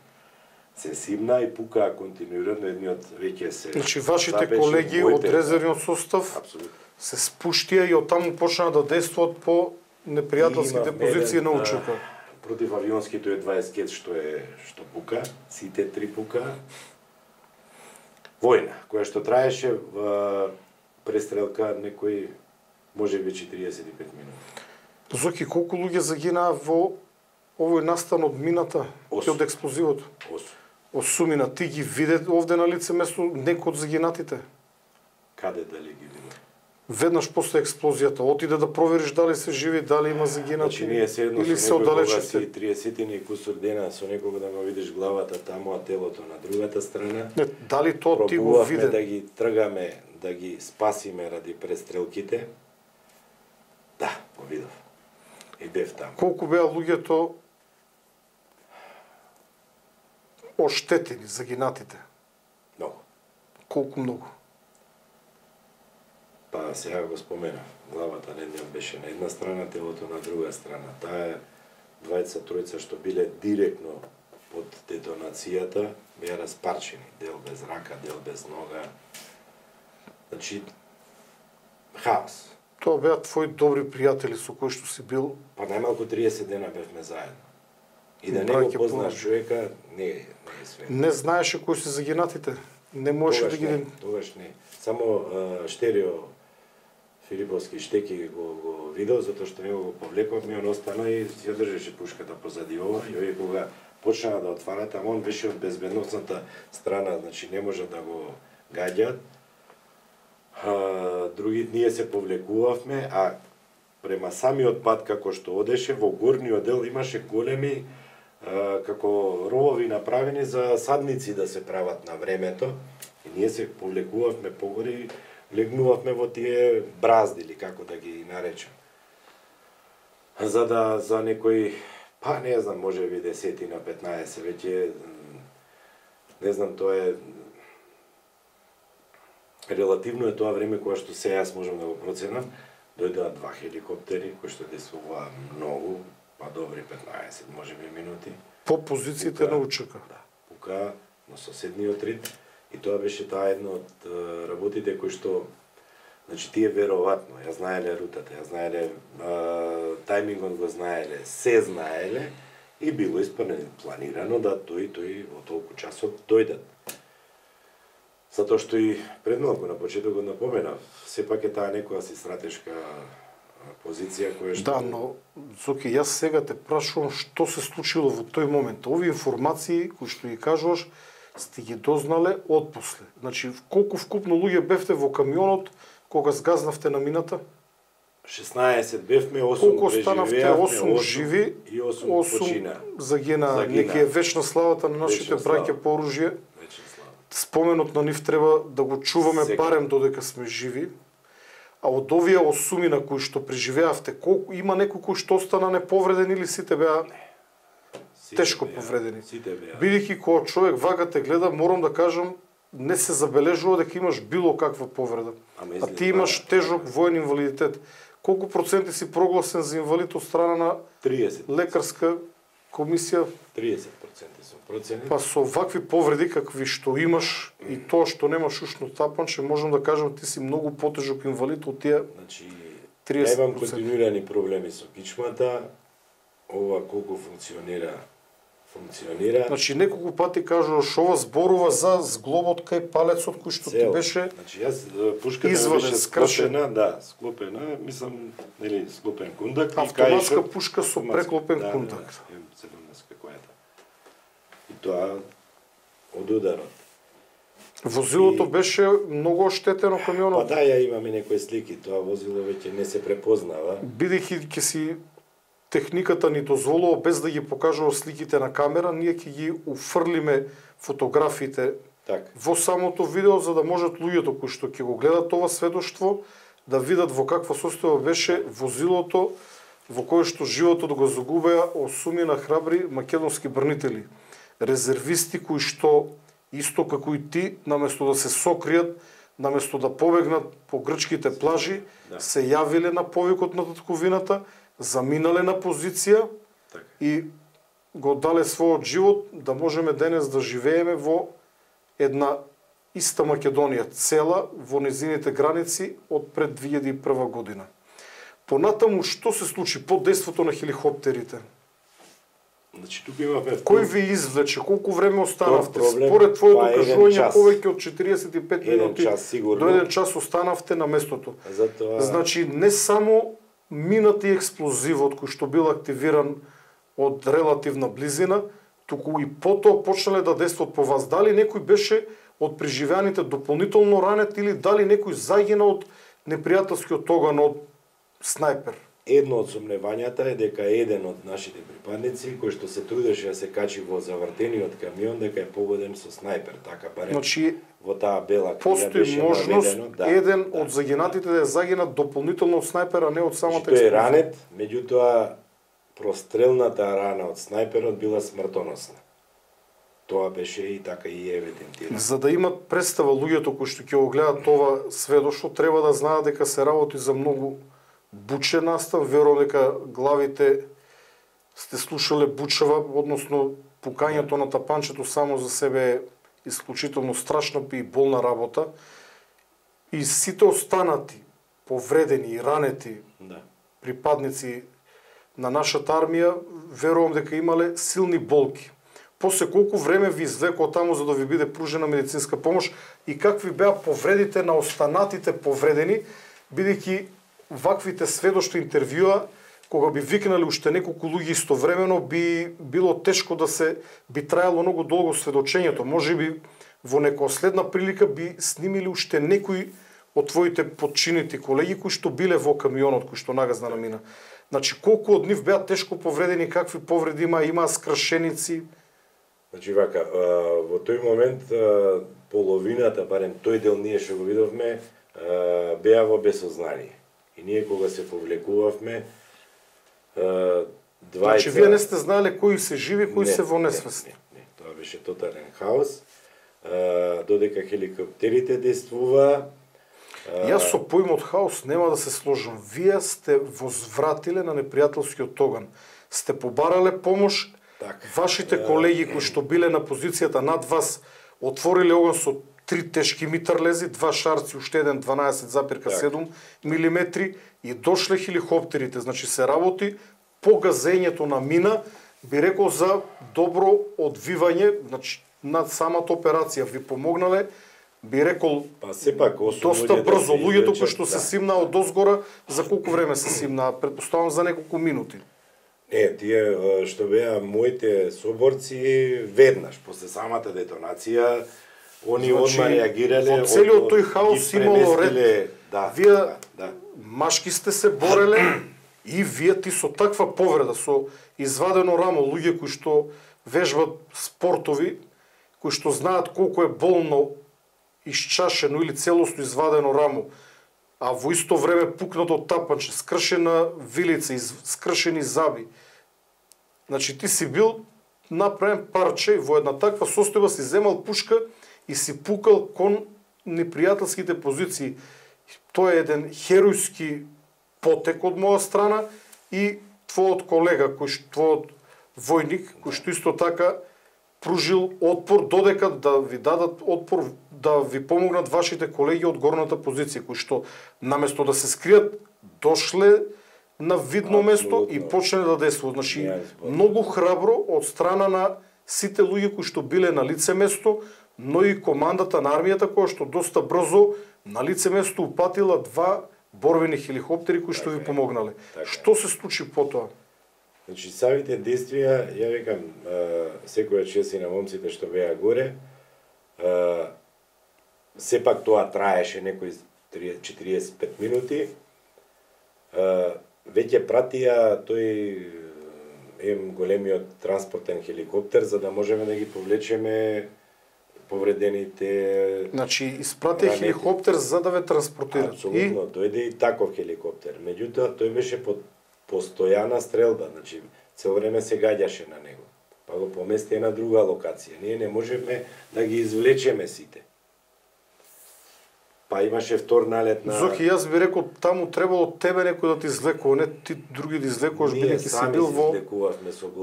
се симна и пукаа континуирано, едниот веќе се... Значи, вашите колеги од резервниот состав се спуштија и оттаму почнаа да действуваат по непријателските позиции на УЧК. Против авионските е 20 што пука, сите 3 пука. Војна, која што траеше престрелка некој, може би 45 минути. Зоки, колку луѓе загинаа во овој настан од мината и од експлозивот? 8. Ти ги виде овде на лице место некој од загинатите? Каде дали ги виде? Веднаш после експлозијата, отиде да провериш дали се живи, дали има загинати, значи, ние се едно или се оддалечите. 30 и кусур дена со некого да го видиш главата таму, а телото на другата страна. Не, дали тоа ти го виде? Да ги тргаме, да ги спасиме ради престрелките. Да, го видов. И бев таму. Колку беа луѓето оштетени, загинатите? Многу. Колку многу? Па сега го споменав. Главата на едниот беше на една страна, телото на друга страна. Таа двајца, тројца што биле директно под детонацијата, беа распарчени. Дел без рака, дел без нога. Значи, хаос. Тоа беа твои добри пријатели со кои што си бил? Па најмалку 30 дена бевме заедно. И да не го познаш човека, не е све. Не знаеше кои се загинатите? Не можеше да ги... Тогаш не. Само Штерио Филиповски Штеки го видел, затоа што него го повлековме, он остана и ја држеше пушката позади ова, и овие кога почнаа да отварат, ама он беше од безбедносната страна, значи не може да го гаѓаат. Други, ние се повлекувавме, а према самиот пат како што одеше, во горниот дел имаше големи како ровови направени за садници да се прават на времето, и ние се повлекувавме погори, легнувавме во тие бразди, или како да ги наречам. За некои, па не знам, може би 10 на 15, веќе, не знам, тоа е... Релативно е тоа време кога што се јас можам да го проценам, дојдоа 2 хеликоптери, кои што действуваа многу, па добри 15, може би минути. По позициите на УЧК. Да, пука на соседниот рид. И тоа беше таа една од работите кои што, значи тие веројатно ја знаеле рутата, ја знаеле тајмингот, го знаеле, се знаеле и било планирано да тој во толку часот дојдат. Затоа што и пред малку на почетокот напоменав, сепак е таа некоја си стратешка позиција која што... Да, но, Зоки, јас сега те прашувам што се случило во тој момент. Овие информации кои што ги кажуваш, сте ги дознале отпосле. Значи, колку вкупно луѓе бевте во камионот кога сгазнавте на мината? 16 бевме, 8 колку останавте? 8 живи и 8 почина. Загина. Нека е вечна славата на нашите браќа по оружје. Споменот на нив треба да го чуваме сега, барем додека сме живи. А од овие 8 на кои што преживеавте, колку има некој кој што остана неповреден или сите беа тешко повредени? Бидејќи кога човек вака те гледа, морам да кажам, не се забележува дека имаш било каква повреда. А ти имаш тежок воен инвалидитет. Колку проценти си прогласен за инвалид од страна на 30. лекарска комисија? 30% сум проценет. Па со вакви повреди какви што имаш и тоа што немаш ушно тапанче, можам да кажам ти си многу потежок инвалид од тие 30%. Значи, имам континуирани проблеми со кичмата, ова колку функционира. Значи неколку пати кажуваш ова зборува за зглобот кај палецот кој што ти беше. Значи јас пушката беше склопена, да, склопена, мислам, нели, склопен кундак. Автоматска пушка со преклопен кундак. Да, 17 којата. И тоа од ударот. Возилото беше многу оштетено, камионот. Па да, ја имаме некои слики, тоа возило веќе не се препознава. Бидејќи ќе си техниката ни дозволува без да ги покажува сликите на камера, ние ќе ги уфрлиме фотографиите во самото видео, за да можат луѓето кои што ќе го гледат ова сведоштво да видат во каква состојба беше возилото во кое што животот го загубеа 8 храбри македонски бранители, резервисти кои што исто како и ти, наместо да се сокријат, наместо да побегнат по грчките плажи, се јавиле на повикот на татковината, заминале на позиција и го дале својот живот да можеме денес да живееме во една иста Македонија, цела во незините граници од пред 2001 година. Понатаму, што се случи по дејството на хеликоптерите? Значи, тука имаме... Кој ви извлече? Колку време останавте? Според твоето кажување, повеќе од 45 минути до 1 час останавте на местото. Значи, не само минати експлозивот кој што бил активиран од релативна близина, туку и потоа почнале да действат по вас. Дали некој беше од преживеаните дополнително ранет или дали некој загина од непријателскиот оган од снајпер? Едно од сомневањата е дека еден од нашите припадници, кој што се трудеше да се качи во завртениот камион, дека е погоден со снајпер, така барем. Значи, во таа бела книга беше можност еден од загинатите да загинат дополнително од снајпер, а не од самата експлозија. Тој е ранет, меѓутоа прострелната рана од снајперот била смртоносна. Тоа беше и така и евидентирано. За да имат представа луѓето кои што ќе го гледат ова сведоштво, треба да знаат дека се работи за многу бучен настан. Верувам дека главите сте слушале бучава, односно пукањето на тапанчето само за себе е исклучително страшна и болна работа. И сите останати, повредени и ранети припадници на нашата армија, верувам дека имале силни болки. После колку време ви извлекоа таму за да ви биде пружена медицинска помош и какви беа повредите на останатите повредени, бидејќи ваквите сведоштва интервјуа, кога би викнале уште неколку луѓе истовремено, би било тешко да се, би траело многу долго сведочењето. Можеби во некоја следна прилика би снимиле уште некои од твоите подчинити колеги кои што биле во камионот кој што нагазна намина. Значи, колку од нив беа тешко повредени, какви повреди имаа скршеници? Значи, вака, во тој момент половината, барем тој дел ние што го видовме, беа во безсознание. И ние кога се повлекувавме, двајца... Значи, вие не сте знаеле кои се живи, кои се во несвесни? Не, тоа беше тотален хаос. Додека хеликоптерите действуваа... Јас со поимот хаос нема да се сложам. Вие сте возвратиле на непријателскиот оган. Сте побарале помош, вашите колеги кои што биле на позицијата над вас отвориле оган со 3 тешки митрлези, 2 шарци, уште еден 12,7 мм и дошле хеликоптерите. Значи се работи по газењето на мина, би рекол за добро одвивање, значи над самата операција ви помогнале, би рекол сепак доста брзо. Луѓето кои што се симнаа од озгора, за колку време се симнаа? Претпоставам за неколку минути. Не, тие што беа моите соборци веднаш после самата детонација, они одма реагирале. Во целиот тој хаос имало ред. Вие машки сте се бореле и вие ти со таква повреда, со извадено рамо, луѓе кои што вежбат спортови, кои што знаат колку е болно исчашено или целосно извадено рамо, а во исто време пукнато тапанче, скршена вилица, скршени заби. Значи ти си бил направен парче во една таква состојба, си земал пушка и си пукал кон непријателските позиции. Тоа е еден херојски потек од моја страна и твојот колега, твојот војник, кој што исто така пружил отпор додека да ви дадат отпор, да ви помогнат вашите колеги од горната позиција, кои што наместо да се скријат, дошле на видно место и почнале да действуваат. Значи, многу храбро од страна на сите луѓе кои што биле на лице место, но и командата на армијата која што доста брзо на лице место упатила 2 борбени хеликоптери кои што ви помогнале. Што се случи потоа? Значи, самите действија, ја викам, секоја чест и на момците што беа горе, сепак тоа траеше некои 45 минути, веќе пратија тој големиот транспортен хеликоптер за да можеме да ги повлечеме повредените. Значи испратија хеликоптер за да ве транспортира. Апсолутно, дојде и таков хеликоптер. Меѓутоа тој беше под постојана стрелба, значи цело време се гаѓаше на него. Па го помести на друга локација. Ние не можевме да ги извлечеме сите. Па имаше втор налет на... Зоки, јас би рекол, таму требало тебе некој да ти извлекува, не ти други да извлекуваш, бидејќи си бил во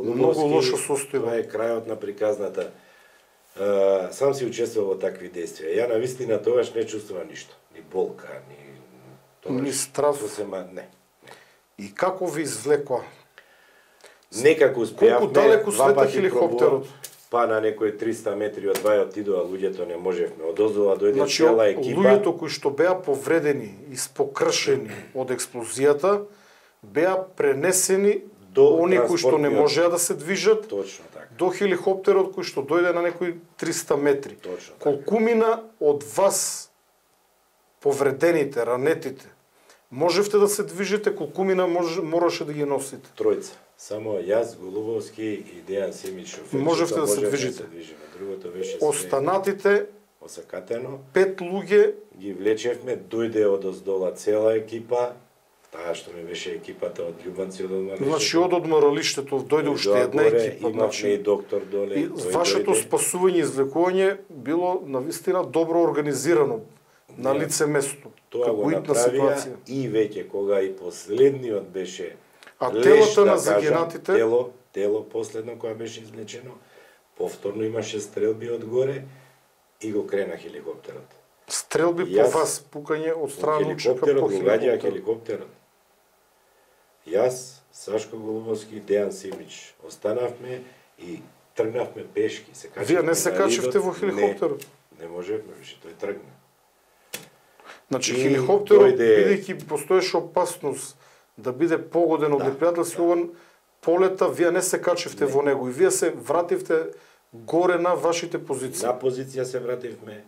многу лошо состојба. Това е крајот на приказната. Сам си учествувал во такви действија. Ја на вистина тогаш не чувствувам ништо. Ни болка, ни страв. Не. И како ви извлекува? Некако успеавме. Колку далеку слета хеликоптерот? Па на некои 300 метри од вајот отидоа луѓето, не можевме. Одозова дојде цела екипа. Луѓето кои што беа повредени и спокршени од експлозијата, беа пренесени до они кои што не можеа да се движат. Точно така. До хеликоптерот кој што дојде на некои 300 метри. Точно така. Колку мина од вас повредените, ранетите, можевте да се движите, колку мина мораше да ги носите? Тројца. Само јас, Голубовски и Дејан Симич шофер. Можевте да се движите. Другото беше останатите осакатено. 5 луѓе ги влечевме, дојде одоздола цела екипа, таа што ми беше екипата од љубанци од одморалиштето. Значи од одморалиштето дојде уште една екипа. Имавме и доктор доле. И вашето спасување и извлекување било навистина добро организирано на лице место. Тоа го направија и веќе кога и последниот беше а телото на загинатите? Тело последно кога беше извлечено, повторно имаше стрелби од горе и го крена хеликоптерот. Стрелби по вас, пукање од страна учека по хеликоптерот. Јас, Сашко Голубовски, Дејан Симич останавме и тргнавме пешки. Вие не се качевте во хеликоптерот? Не можевме више, тој тргна. Значи хеликоптерот, бидејќи постоеше опасност да биде погоден од непријателски полета, вие не се качевте во него и вие се вративте горе на вашите позиции. На позиција се вративме.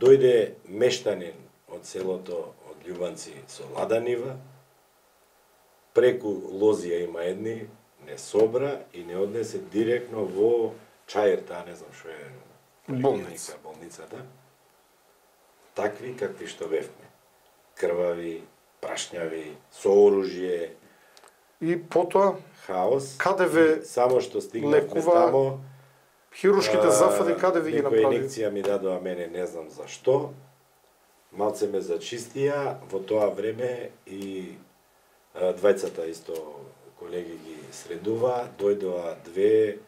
Дојде мештанин од селото од Љубанци со ладанива, преку Лозија има едни, не собра и не однесе директно во Чајрта, не знам што е болницата. Такви какви што бевме. Крвави, прашњави, со оружје. И потоа хаос. Каде ве само што стигнавме тамо, хируршките зафади каде ви ги направи? Некоја инекција ми дадоа мене, не знам зашто. Малце ме зачистија, во тоа време и двајцата исто колеги ги средува, дојдоа две,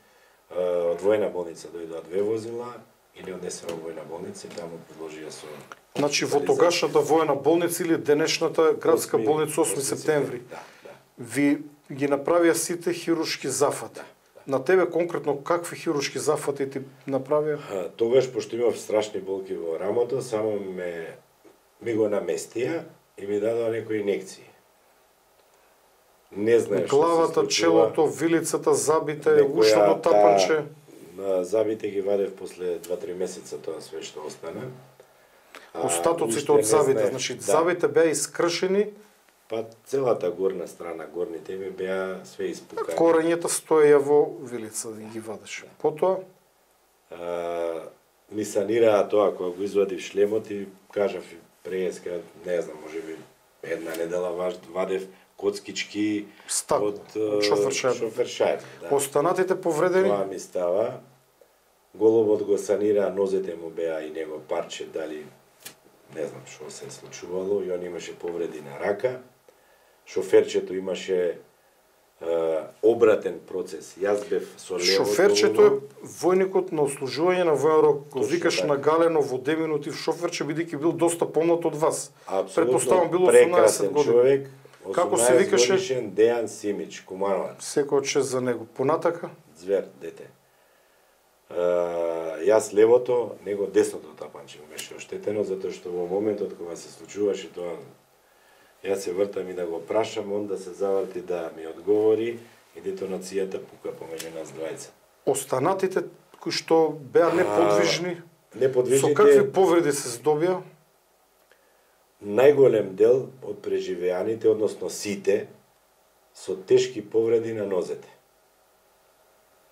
од војна болница дојдоа две возила и не однесена во војна болница и таму предложија со... Значи во тогашната војна болница или денешната градска болница 8 септември, ви ги направија сите хируршки зафати. На тебе конкретно какви хируршки зафати ти направија? Тогаш, пошто имав страшни болки во рамото, само ми го наместија и ми дадоа некои инекции. Не знаеш главата, челото, вилицата, забите, ушното тапанче. Забите ги вадев после 2-3 месеца тоа све што остана. Остатоците од забите, значи забите беа искршени. Па целата горна страна, горните ми беа све испукани. Корењата стоеја во вилица да ги вадеше. Потоа ми санираа тоа кога го извадив шлемот и кажав преска, не знам, можеби една недела вадев коцкички од шофершајб. Останатите повредени? Тоа ми става. Головот го санира, нозете му беа и него парче, дали не знам што се случувало, и он имаше повреди на рака. Шоферчето имаше обратен процес. Јас бев со лево. Шоферчето е војникот на ослужување на воен рок. Го викаш на галено во 2 минути в шоферче, бидејќи бил доста помлад од вас. Предпоставам бил 18 години. Човек. Како се викаше? Дејан Симич, Кумановац. Секој чест за него. Понатака? Звер, дете. Јас левото, него десното тапанче му беше оштетено, затоа што во моментот кога се случуваше тоа, јас се вртам и да го прашам, он да се заврти да ми одговори и детонацијата пука помеѓу нас двајца. Останатите кои што беа неподвижни, неподвижните, со какви повреди се здобија? Најголем дел од преживеаните, односно сите, со тешки повреди на нозете.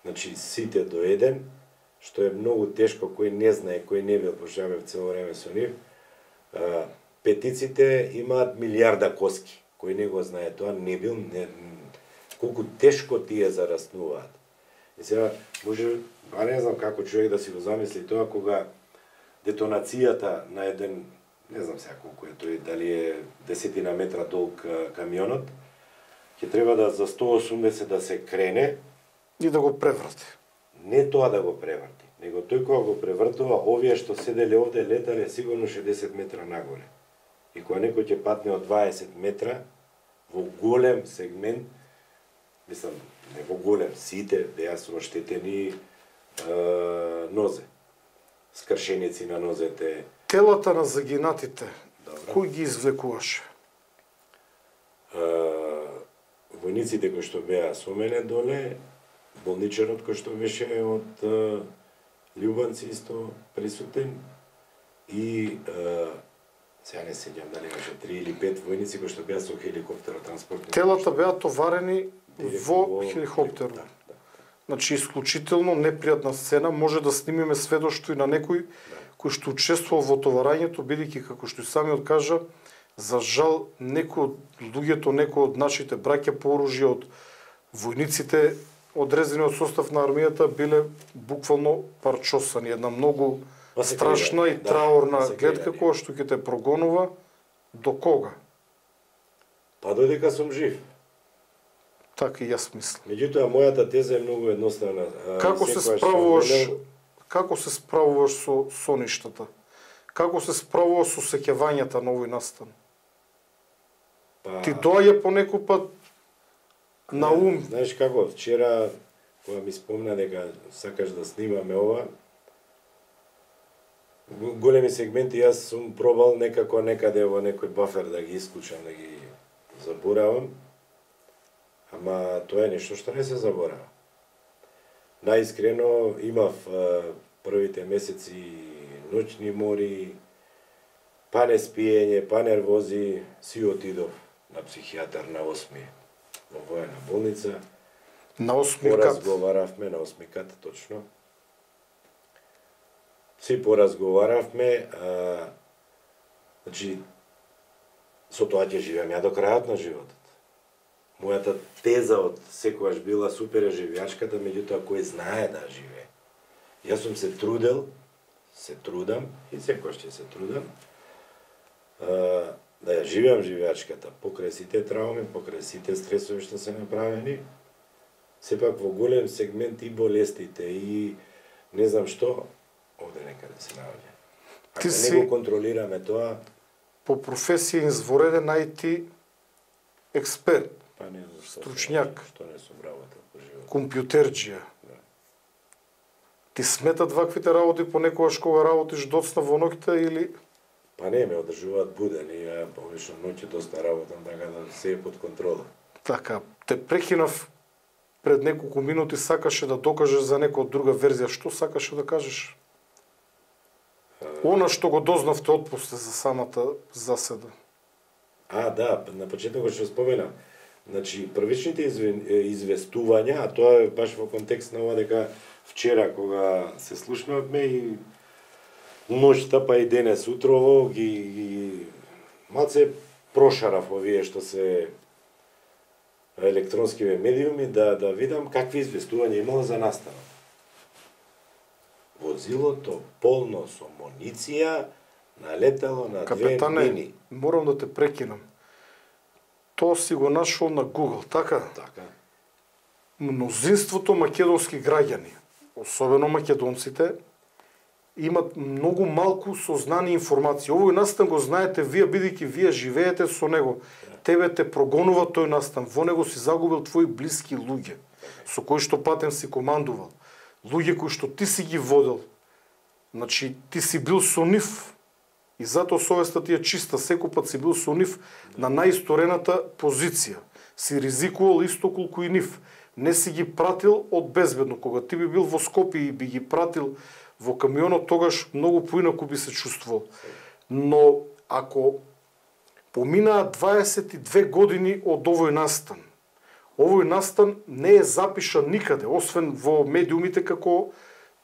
Значи, сите до еден, што е многу тешко, кој не знае, кој не бил, пошто бев цело време со нив. Петиците имаат милиарда коски. Кој не го знае тоа, не бил, колку тешко тие зараснуваат. И сега, може, не знам како човек да си го замисли тоа, кога детонацијата на еден, не знам сега колку е тој, дали е 10 метра долг камионот, ќе треба да за 180 да се крене и да го преврати. Не тоа да го преврати, него тој кога го превртува, овие што седеле овде летале сигурно 60 метра нагоре. И кога некој ќе патне од 20 метра, во голем сегмент, мислам, не во голем, сите беа со оштетени нозе. Скршеници на нозете. Телата на загинатите, кој ги извлекуваше? Војниците кои што беа со мене доле, болничарот кој што беше од Љубанци исто присутен и сега не сеќам дали беше 3 или 5 војници кои што беа со хеликоптерот транспортни. Телата беа товарени во хеликоптерот. Да. Значи, исклучително непријатна сцена, може да снимиме сведоштво и на некој кој што учествувал во товарањето, бидејќи како што и самиот кажа, за жал некои од луѓето, некои од нашите браќа по оружје, од војниците одрезани од состав на армијата биле буквално парчосани. Една многу страшна и траурна гледка која што ќе те прогонува до кога? Па додека сум жив. Така и јас мислам. Меѓутоа мојата теза е многу едноставна. Како се справуваш со соништата? Како се справуваш со сеќавањата на овој настан? Ти доаѓа по некој пат на ум. Знаеш како, вчера кога ми спомна дека сакаш да снимаме ова, големи сегменти јас сум пробал некако некаде во некој бафер да ги исклучам, да ги заборавам. Ама тоа е нешто што не се заборава. Наискрено имав првите месеци ноќни мори, па не спиење, па нервози, си отидов на психијатар на 8-ми во воена болница. На 8-ми кат? Поразговаравме на 8-ми кат, точно. Си поразговаравме, значи, со тоа ќе живеам ја до крајот на животот. Мојата теза од секогаш била супер живеачката, меѓутоа кој знае да живее. Јас сум се трудел, се трудам и секогаш ќе се трудам да ја живеам живеачката покрај сите трауми, покрај сите стресови што се направени. Сепак во голем сегмент и болестите и не знам што овде некаде се наоѓа. Ако не го контролираме тоа, по професија извореден IT експерт. Па не, стручњак, што не сум работел по живот. Компјутерџија. Да. Ти сметат ваквите работи понекогаш кога работиш доцна во ноќта или? Па не, ме одржуваат буден и ја повишно ноќе доста работам, така да се е под контрола. Така, те прекинав пред неколку минути, сакаше да докажеш за некоја друга верзија. Што сакаше да кажеш? Она што го дознавте отпусте за самата заседа. Да, на почетокот што споменам. Значи, првичните известувања, а тоа е баш во контекст на ова дека вчера кога се слушнавме и ноќта па и денес утрово ги малце прошарав овие што се електронскиве медиуми да видам какви известувања имало за настанот. Возилото полно со муниција налетало на Капетане, 2 мини. Морам да те прекинам. Тоа си го нашол на Google, така? Така. Мнозинството македонски граѓани, особено македонците, имат многу малку сознани информации. Овој настан го знаете вие, бидејќи вие живеете со него. Тебе те прогонува тој настан. Во него си загубил твои блиски луѓе, со кои што патен си командувал. Луѓе кои што ти си ги водел. Значи, ти си бил со нив. И затоа совеста ти е чиста, секој пат си бил со нив на најисторената позиција. Си ризикувал исто колку и нив. Не си ги пратил од безбедно. Кога ти би бил во Скопје и би ги пратил во камионот, тогаш многу поинаку би се чувствувал. Но ако поминаа 22 години од овој настан, Овој настан не е запишан никаде, освен во медиумите како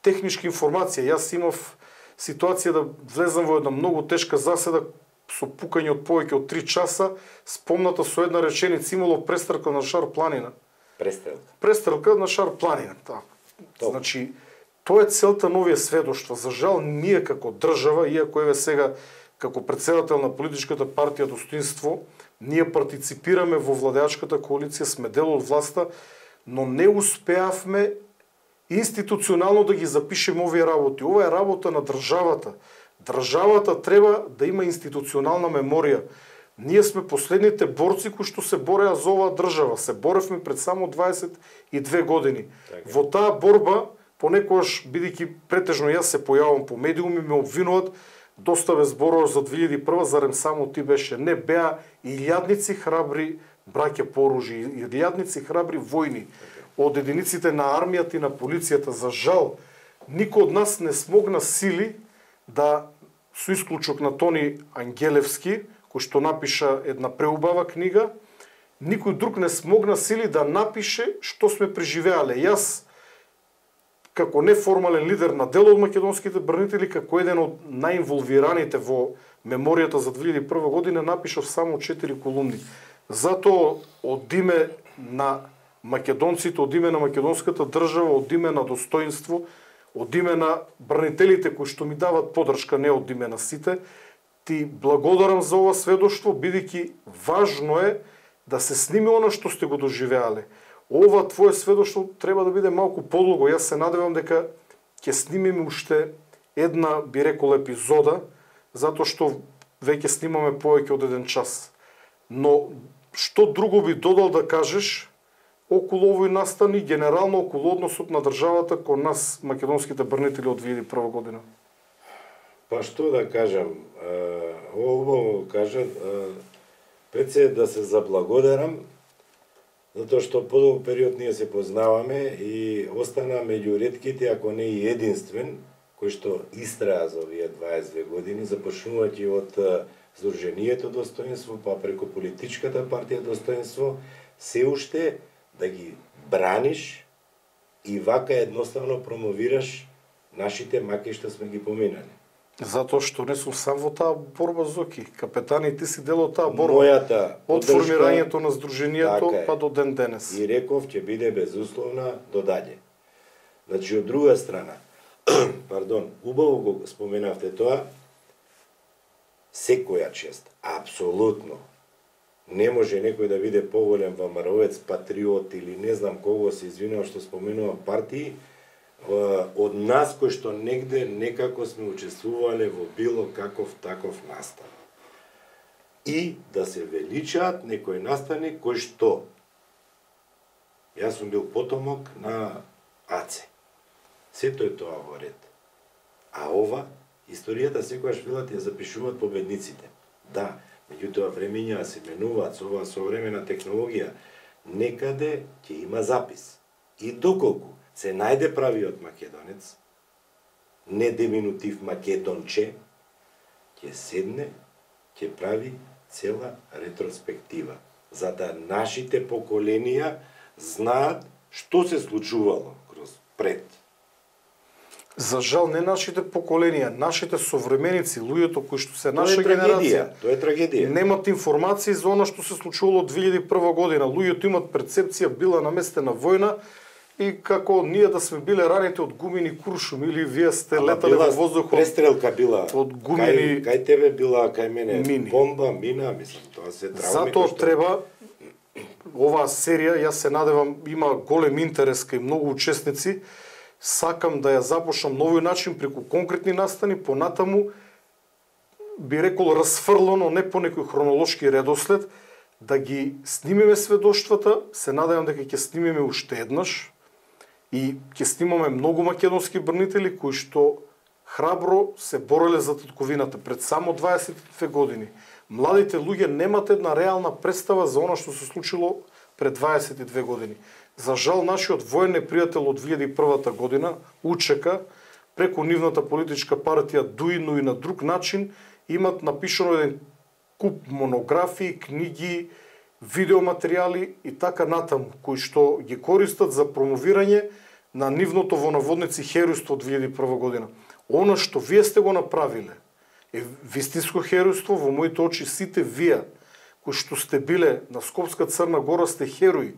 техничка информација. Јас имав ситуација да влезам во една многу тешка заседа со пукање од повеќе од 3 часа, спомната со една реченица имало престрелка на Шар планина. Престрелка на Шар планина. Значи, тоа е целта на овие сведоштва. За жал, ние како држава, иако еве сега како претседател на политичката партија Достоинство, ние партиципираме во владеачката коалиција, сме дел од власта, но не успеавме институционално да ги запишеме овие работи. Ова е работа на државата. Државата треба да има институционална меморија. Ние сме последните борци кои што се бореа за оваа држава. Се боревме пред само 22 години. Во таа борба, понекогаш, бидејќи претежно јас се појавам по медиуми, ме обвинуваат, доста бе зборуваш за 2001, зарем само ти беше. Не, беа илјадници храбри браќа по оружје, илјадници храбри војни од единиците на армијата и на полицијата. За жал, никој од нас не смогна сили да, со исклучок на Тони Ангелевски, кој што напиша една преубава книга, никој друг не смогна сили да напише што сме преживеале. Јас, како неформален лидер на дел од македонските брнители, како еден од најинволвираните во меморијата за 2001 година, напишав само 4 колумни. Затоа од име на македонците, од име на македонската држава, од име на Достоинство, од име на брнителите кои што ми дават поддршка, не од име на сите, ти благодарам за ова сведоштво, бидејќи важно е да се сними она што сте го доживеале. Ова твое сведоштво треба да биде малку подлого. Јас се надевам дека ќе снимиме уште една, би рекол, епизода, затоа што веќе снимаме повеќе од 1 час. Но што друго би додал да кажеш околу овој настан и генерално околу односот на државата кон нас, македонските брнители од 2001 година? Па што да кажам, убаво кажа, пред се да се заблагодарам, затоа што подолг период ние се познаваме и остана меѓу ретките, ако не и единствен, кој што истраја за овие 22 години, започнувајќи од Сдруженијето Достоинство, па преку политичката партија Достоинство, се уште да ги браниш и вака едноставно промовираш нашите маки што сме ги поминали. Затоа што не сум сам во таа борба, Зоки. Капетани, ти си дел од таа борба. Мојата од формирањето на Сдруженијето па до ден денес. И реков ќе биде безусловна до даѓе. Значи, од друга страна, пардон, убаво го споменавте тоа, секоја чест, апсолутно, не може некој да биде поголем ВМРО-ец, патриот или не знам кого се извинува што споменува партии, од нас кои што негде некако сме учествувале во било каков таков настан. И да се величаат некои настани кои што јас сум бил потомок на Аце. Сето е тоа во ред. А ова, историјата секојаш велат ја запишуваат победниците. Да, меѓутоа времења се менуваат со оваа современа технологија. Некаде ќе има запис. И доколку се најде правиот македонец, не деминутив македонче, ќе седне, ќе прави цела ретроспектива, за да нашите поколенија знаат што се случувало кроз пред. За жал, не нашите поколенија, нашите современици, луѓето кои што се наша генерација, тоа е трагедија. Немат информации за она што се случувало од 2001 година. Луѓето имат перцепција била наместена војна, и како ние да сме биле раните од гумени куршум, или вие сте летале во воздухот. Престрелка била од гумени. Кај тебе била, кај мене мини. Бомба, мина, мислам, тоа се травми. Затоа треба оваа серија, јас се надевам, има голем интерес кај многу учесници. Сакам да ја започнам на овој начин преку конкретни настани, понатаму би рекол расфрлано, не по некој хронолошки редослед, да ги снимиме сведоштвата. Се надевам дека ќе снимиме уште еднаш. И ќе снимаме многу македонски брнители кои што храбро се бореле за татковината пред само 22 години. Младите луѓе немат една реална представа за она што се случило пред 22 години. За жал, нашиот воен непријател од 2001 година, УЧК, преку нивната политичка партија ДУИ, но и на друг начин, имат напишано еден куп монографии, книги видеоматеријали и така натаму, кои што ги користат за промовирање на нивното во наводници херојство од 2001 година. Она што вие сте го направиле е вистинско херојство. Во моите очи сите вие кои што сте биле на Скопска Црна Гора сте херои.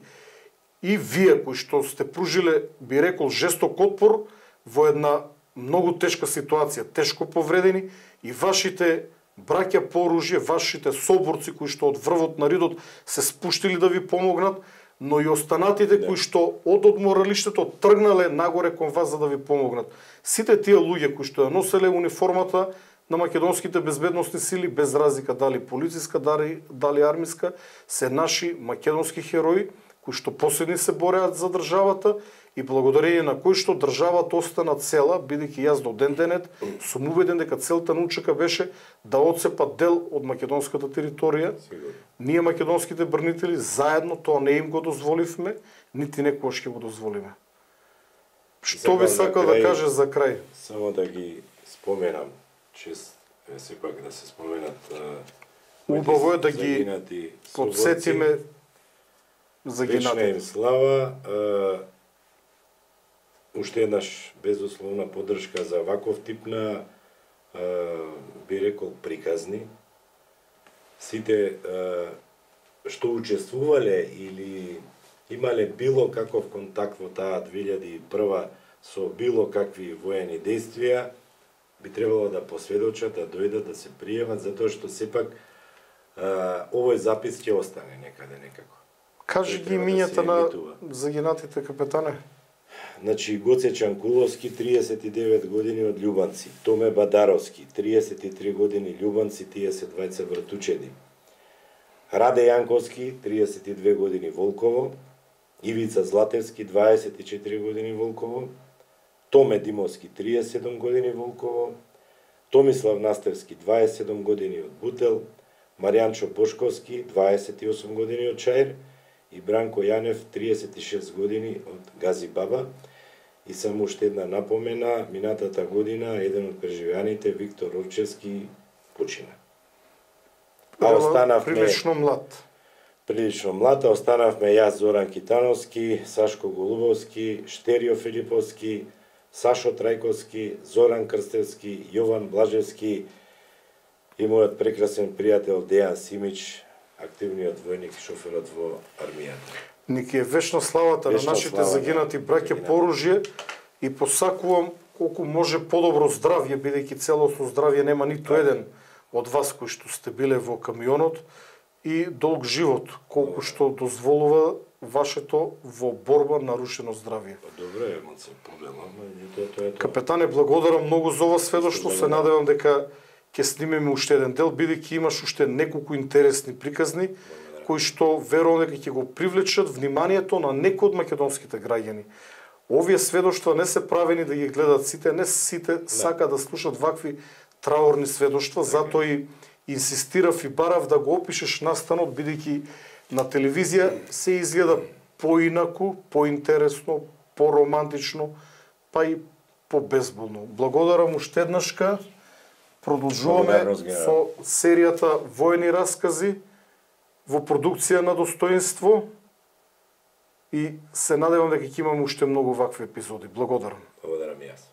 И вие кои што сте пружиле, би рекол, жесток отпор во една многу тешка ситуација, тешко повредени, и вашите браќа по оружје, вашите соборци кои што од врвот на ридот се спуштили да ви помогнат, но и останатите кои што од одморалиштето тргнале нагоре кон вас за да ви помогнат. Сите тие луѓе кои што ја носеле униформата на македонските безбедносни сили, без разлика дали полициска, дали армиска, се наши македонски херои кои што последни се бореат за државата и благодарение на кои што државата остана цела, бидејќи јас до ден денет сум убеден дека целта на УЧК беше да отцепат дел од македонската територија. Ние македонските брнители заедно тоа не им го дозволивме, нити некогаш ќе го дозволиме. Што би сакал да каже за крај? Само да ги споменам, сепак да се споменат убаво е да ги подсетиме загинатите. Вечна им слава. Уште еднаш безусловна поддршка за ваков тип на, би рекол, приказни. Сите што учествувале или имале било каков контакт во таа 2001 со било какви воени действија, би требало да посведочат, да дојдат, да се приемат, затоа што сепак овој запис ќе остане некаде некако. Кажи ги имињата на загинатите, капетане. Значи, Гоце Чанкуловски, 39 години од Љубанци. Томе Бадаровски, 33 години Љубанци, тие се двајца братучеди. Раде Јанковски, 32 години Волково. Ивица Златевски, 24 години Волково. Томе Димовски, 37 години Волково. Томислав Настевски, 27 години од Бутел. Маријанчо Бошковски, 28 години од Чаир. И Бранко Јанев, 36 години од Гази Баба. И само уште една напомена, минатата година еден од преживеаните, Виктор Орчевски, почина. А останавме прилично млад. Прилично млад, а останавме јас, Зоран Китановски, Сашко Голубовски, Штерио Филиповски, Сашо Трајковски, Зоран Крстевски, Јован Блажевски и мојот прекрасен пријател Дејан Симич, активниот војник и шоферот во армијата. Ники е вечна славата на нашите загинати браќа по оружје и посакувам колку може подобро здравје, бидејќи целосно здравје нема ниту еден од вас кои што сте биле во камионот, и долг живот, колку што дозволува вашето во борба нарушено здравје. Добре, ема се проблема, тоа е тоа. Капетане, благодарам многу за ова сведоштво, се надевам дека ќе снимеме уште еден дел, бидејќи имаш уште неколку интересни приказни кои што верувам дека ќе го привлечат вниманието на некои од македонските граѓани. Овие сведоштва не се правени да ги гледат сите, не сите сака да слушат вакви траорни сведоштва, затоа и инсистирав и барав да го опишеш настанот, бидејќи на телевизија се изгледа поинаку, поинтересно, поромантично, па и побезболно. Благодарам уште еднашка. Продолжуваме со серијата војни раскази во продукција на достоинство и се надевам дека ќе имаме уште многу вакви епизоди. Благодарам. Благодарам и јас.